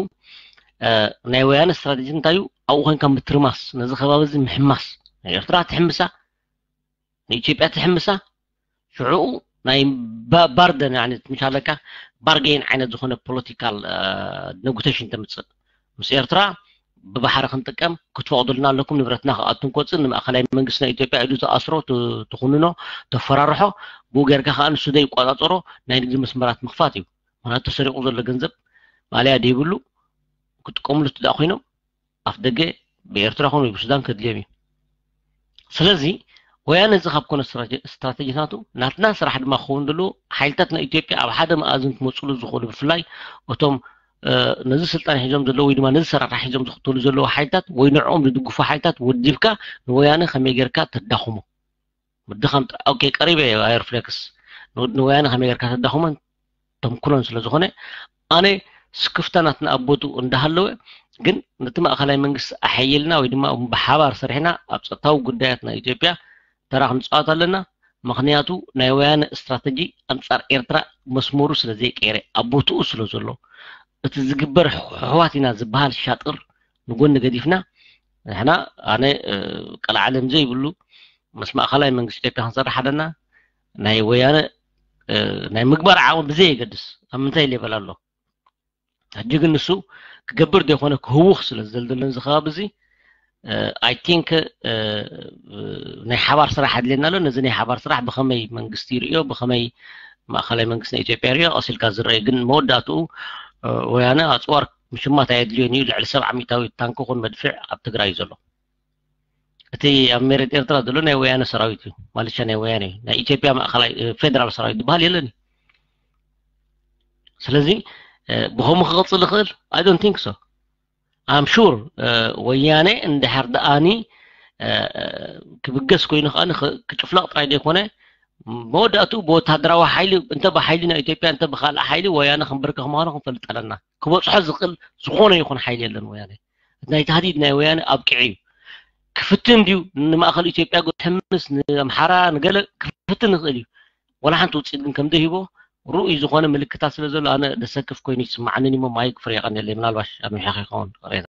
ናይ ወያነ ስትራቴጂ እንታይ እዩ? ኣብኡ ኮይንካ ምትርማስ፣ ነዚ ከባቢ እዚ ምሕማስ፣ ናይ ኤርትራ ትሕምሳ፣ ንኢትዮጵያ ትሕምሳ፣ ሽዑኡ ናይ ባርደን ምሻለካ ባርጌን ዓይነት ዝኾነ ፖለቲካል ነጉቴሽን ተምፅእ ምስ ኤርትራ ብባሕሪ ክንጥቀም ክትፈቕዱልና ኣለኩም፣ ንብረትና ክኣቱን ክወፅን ንማእኸላይ መንግስቲ ናይ ኢትዮጵያ ኢዱ ተኣስሮ፣ ትኹንኖ፣ ተፈራርሖ፣ ብኡ ጌርካ ከዓ ንሱ ዘይቋፃፀሮ ናይ ንግዲ መስመራት ምኽፋት እዩ። ምክንያቱ ተሰሪቑ ዘሎ ገንዘብ ማእለያ ዘይብሉ ክጥቀምሉ ትዳእ ኮይኖም ኣፍ ደገ ብኤርትራ ኮነ ብሱዳን ከድልዮም እዩ። ስለዚ ወያነ እዚ ካብ ኮነ ስትራቴጂ ናቱ ናትና ስራሕ ድማ ክኸውን ዘለዎ ሓይልታት ናይ ኢትዮጵያ ኣብ ሓደ መኣዝን ክመፅሉ ዝኽእሉ ብፍላይ እቶም ነዚ ስልጣን ሒዞም ዘለዉ ወይ ድማ ነዚ ሰራራሕ ሒዞም ዝኽተሉ ዘለዉ ሓይልታት ወይ ንዕኦም ዝድግፉ ሓይልታት ወዲብካ ንወያነ ከመይ ጌርካ ተዳኽሞ ምድኻም ኦኬ ቀሪበ ኣየር ፍሌክስ ንወያነ ከመይ ጌርካ ተዳኽሞን ተምኩሎን ስለ ዝኾነ ኣነ ስክፍታ ናትና ኣብ ቦትኡ እንዳሃለወ፣ ግን ነቲ ማእኸላይ መንግስቲ ኣሐይልና ወይ ድማ ብሓባር ሰሪሕና ኣብ ጸጥታዊ ጉዳያት ናይ ኢትዮጵያ ተራ ክንጻወት ኣለና። ምኽንያቱ ናይ ወያነ ስትራተጂ ኣንጻር ኤርትራ መስመሩ ስለ ዘይቀየረ፣ ኣብ ቦትኡ ስለ ዘሎ፣ እቲ ዝግበር ኣሕዋት ኢና ዝበሃል ሻጥር ንጎኒ ገዲፍና፣ ንሕና፣ ኣነ ቀልዓለም ዘይብሉ ምስ ማእኸላይ መንግስቲ ኢትዮጵያ ክንሰርሕ ኣለና። ናይ ወያነ ናይ ምግባር ዓቕሚ ብዘየገድስ ኣብ ምንታይ ሌቨል ኣሎ፣ ሕጂ ግን ንሱ ክገብር ዘይኮነ ክህውኽ ስለ ዝደልደለን እዚ ከባቢ እዚ፣ ኣይ ቲንክ ናይ ሓባር ስራሕ ኣድልየና ኣሎ። ነዚ ናይ ሓባር ስራሕ ብኸመይ መንግስቲ ይርእዮ፣ ብኸመይ ማእኸላይ መንግስቲ ናይ ኢትዮጵያ ይርእዮ፣ ቀሲልካ ዝረአ ግን መወዳእትኡ ወያነ ኣፅዋር ምሽማት ኣየድልዮን እዩ። ልዕሊ ሰብዓ ሚእታዊ ታንክ ኹን መድፍዕ ኣብ ትግራይ እዩ ዘሎ። እቲ ኣብ መሬት ኤርትራ ዘሎ ናይ ወያነ ሰራዊት እዩ፣ ማለሻ ናይ ወያነ እዩ። ናይ ኢትዮጵያ ማእኸላይ ፌደራል ሰራዊት ዝበሃል የለን እዩ። ስለዚ ብኸምኡ ክቐፅል ይኽእል? I don't think so. I'm sure ወያነ እንድሕር ደኣኒ ክብገስ ኮይኑ ከዓ ክጭፍለቕ ጥራይ ዘይኮነ መወዳእትኡ ብወታደራዊ ሓይሊ እንተ ብሓይሊ ናይ ኢትዮጵያ እንተ ብካልእ ሓይሊ ወያነ ክንብርከኽ ምዃኑ ክንፈልጥ ኣለና። ክበፅሖ ዝኽእል ዝኾነ ይኹን ሓይሊ የለን ወያነ። ናይ ታህዲድ ናይ ወያነ ኣብቂዑ እዩ። ክፍትን ድዩ ንማእኸል ኢትዮጵያ ሕምስ ንኣምሓራ ንገለ ክፍትን ይኽእል እዩ። ወላ ሓንቲ ውፅኢት ግን ከም ዘይህቦ ርኡይ ዝኾነ ምልክታት ስለ ዘሎ ኣነ ደሰክፍ ኮይኑ ይስማዓንን እሞ ማይክ ፍሬ የቐንየለይ። ምናልባሽ ኣሚሕኻ ይኸውን ቅሬታ።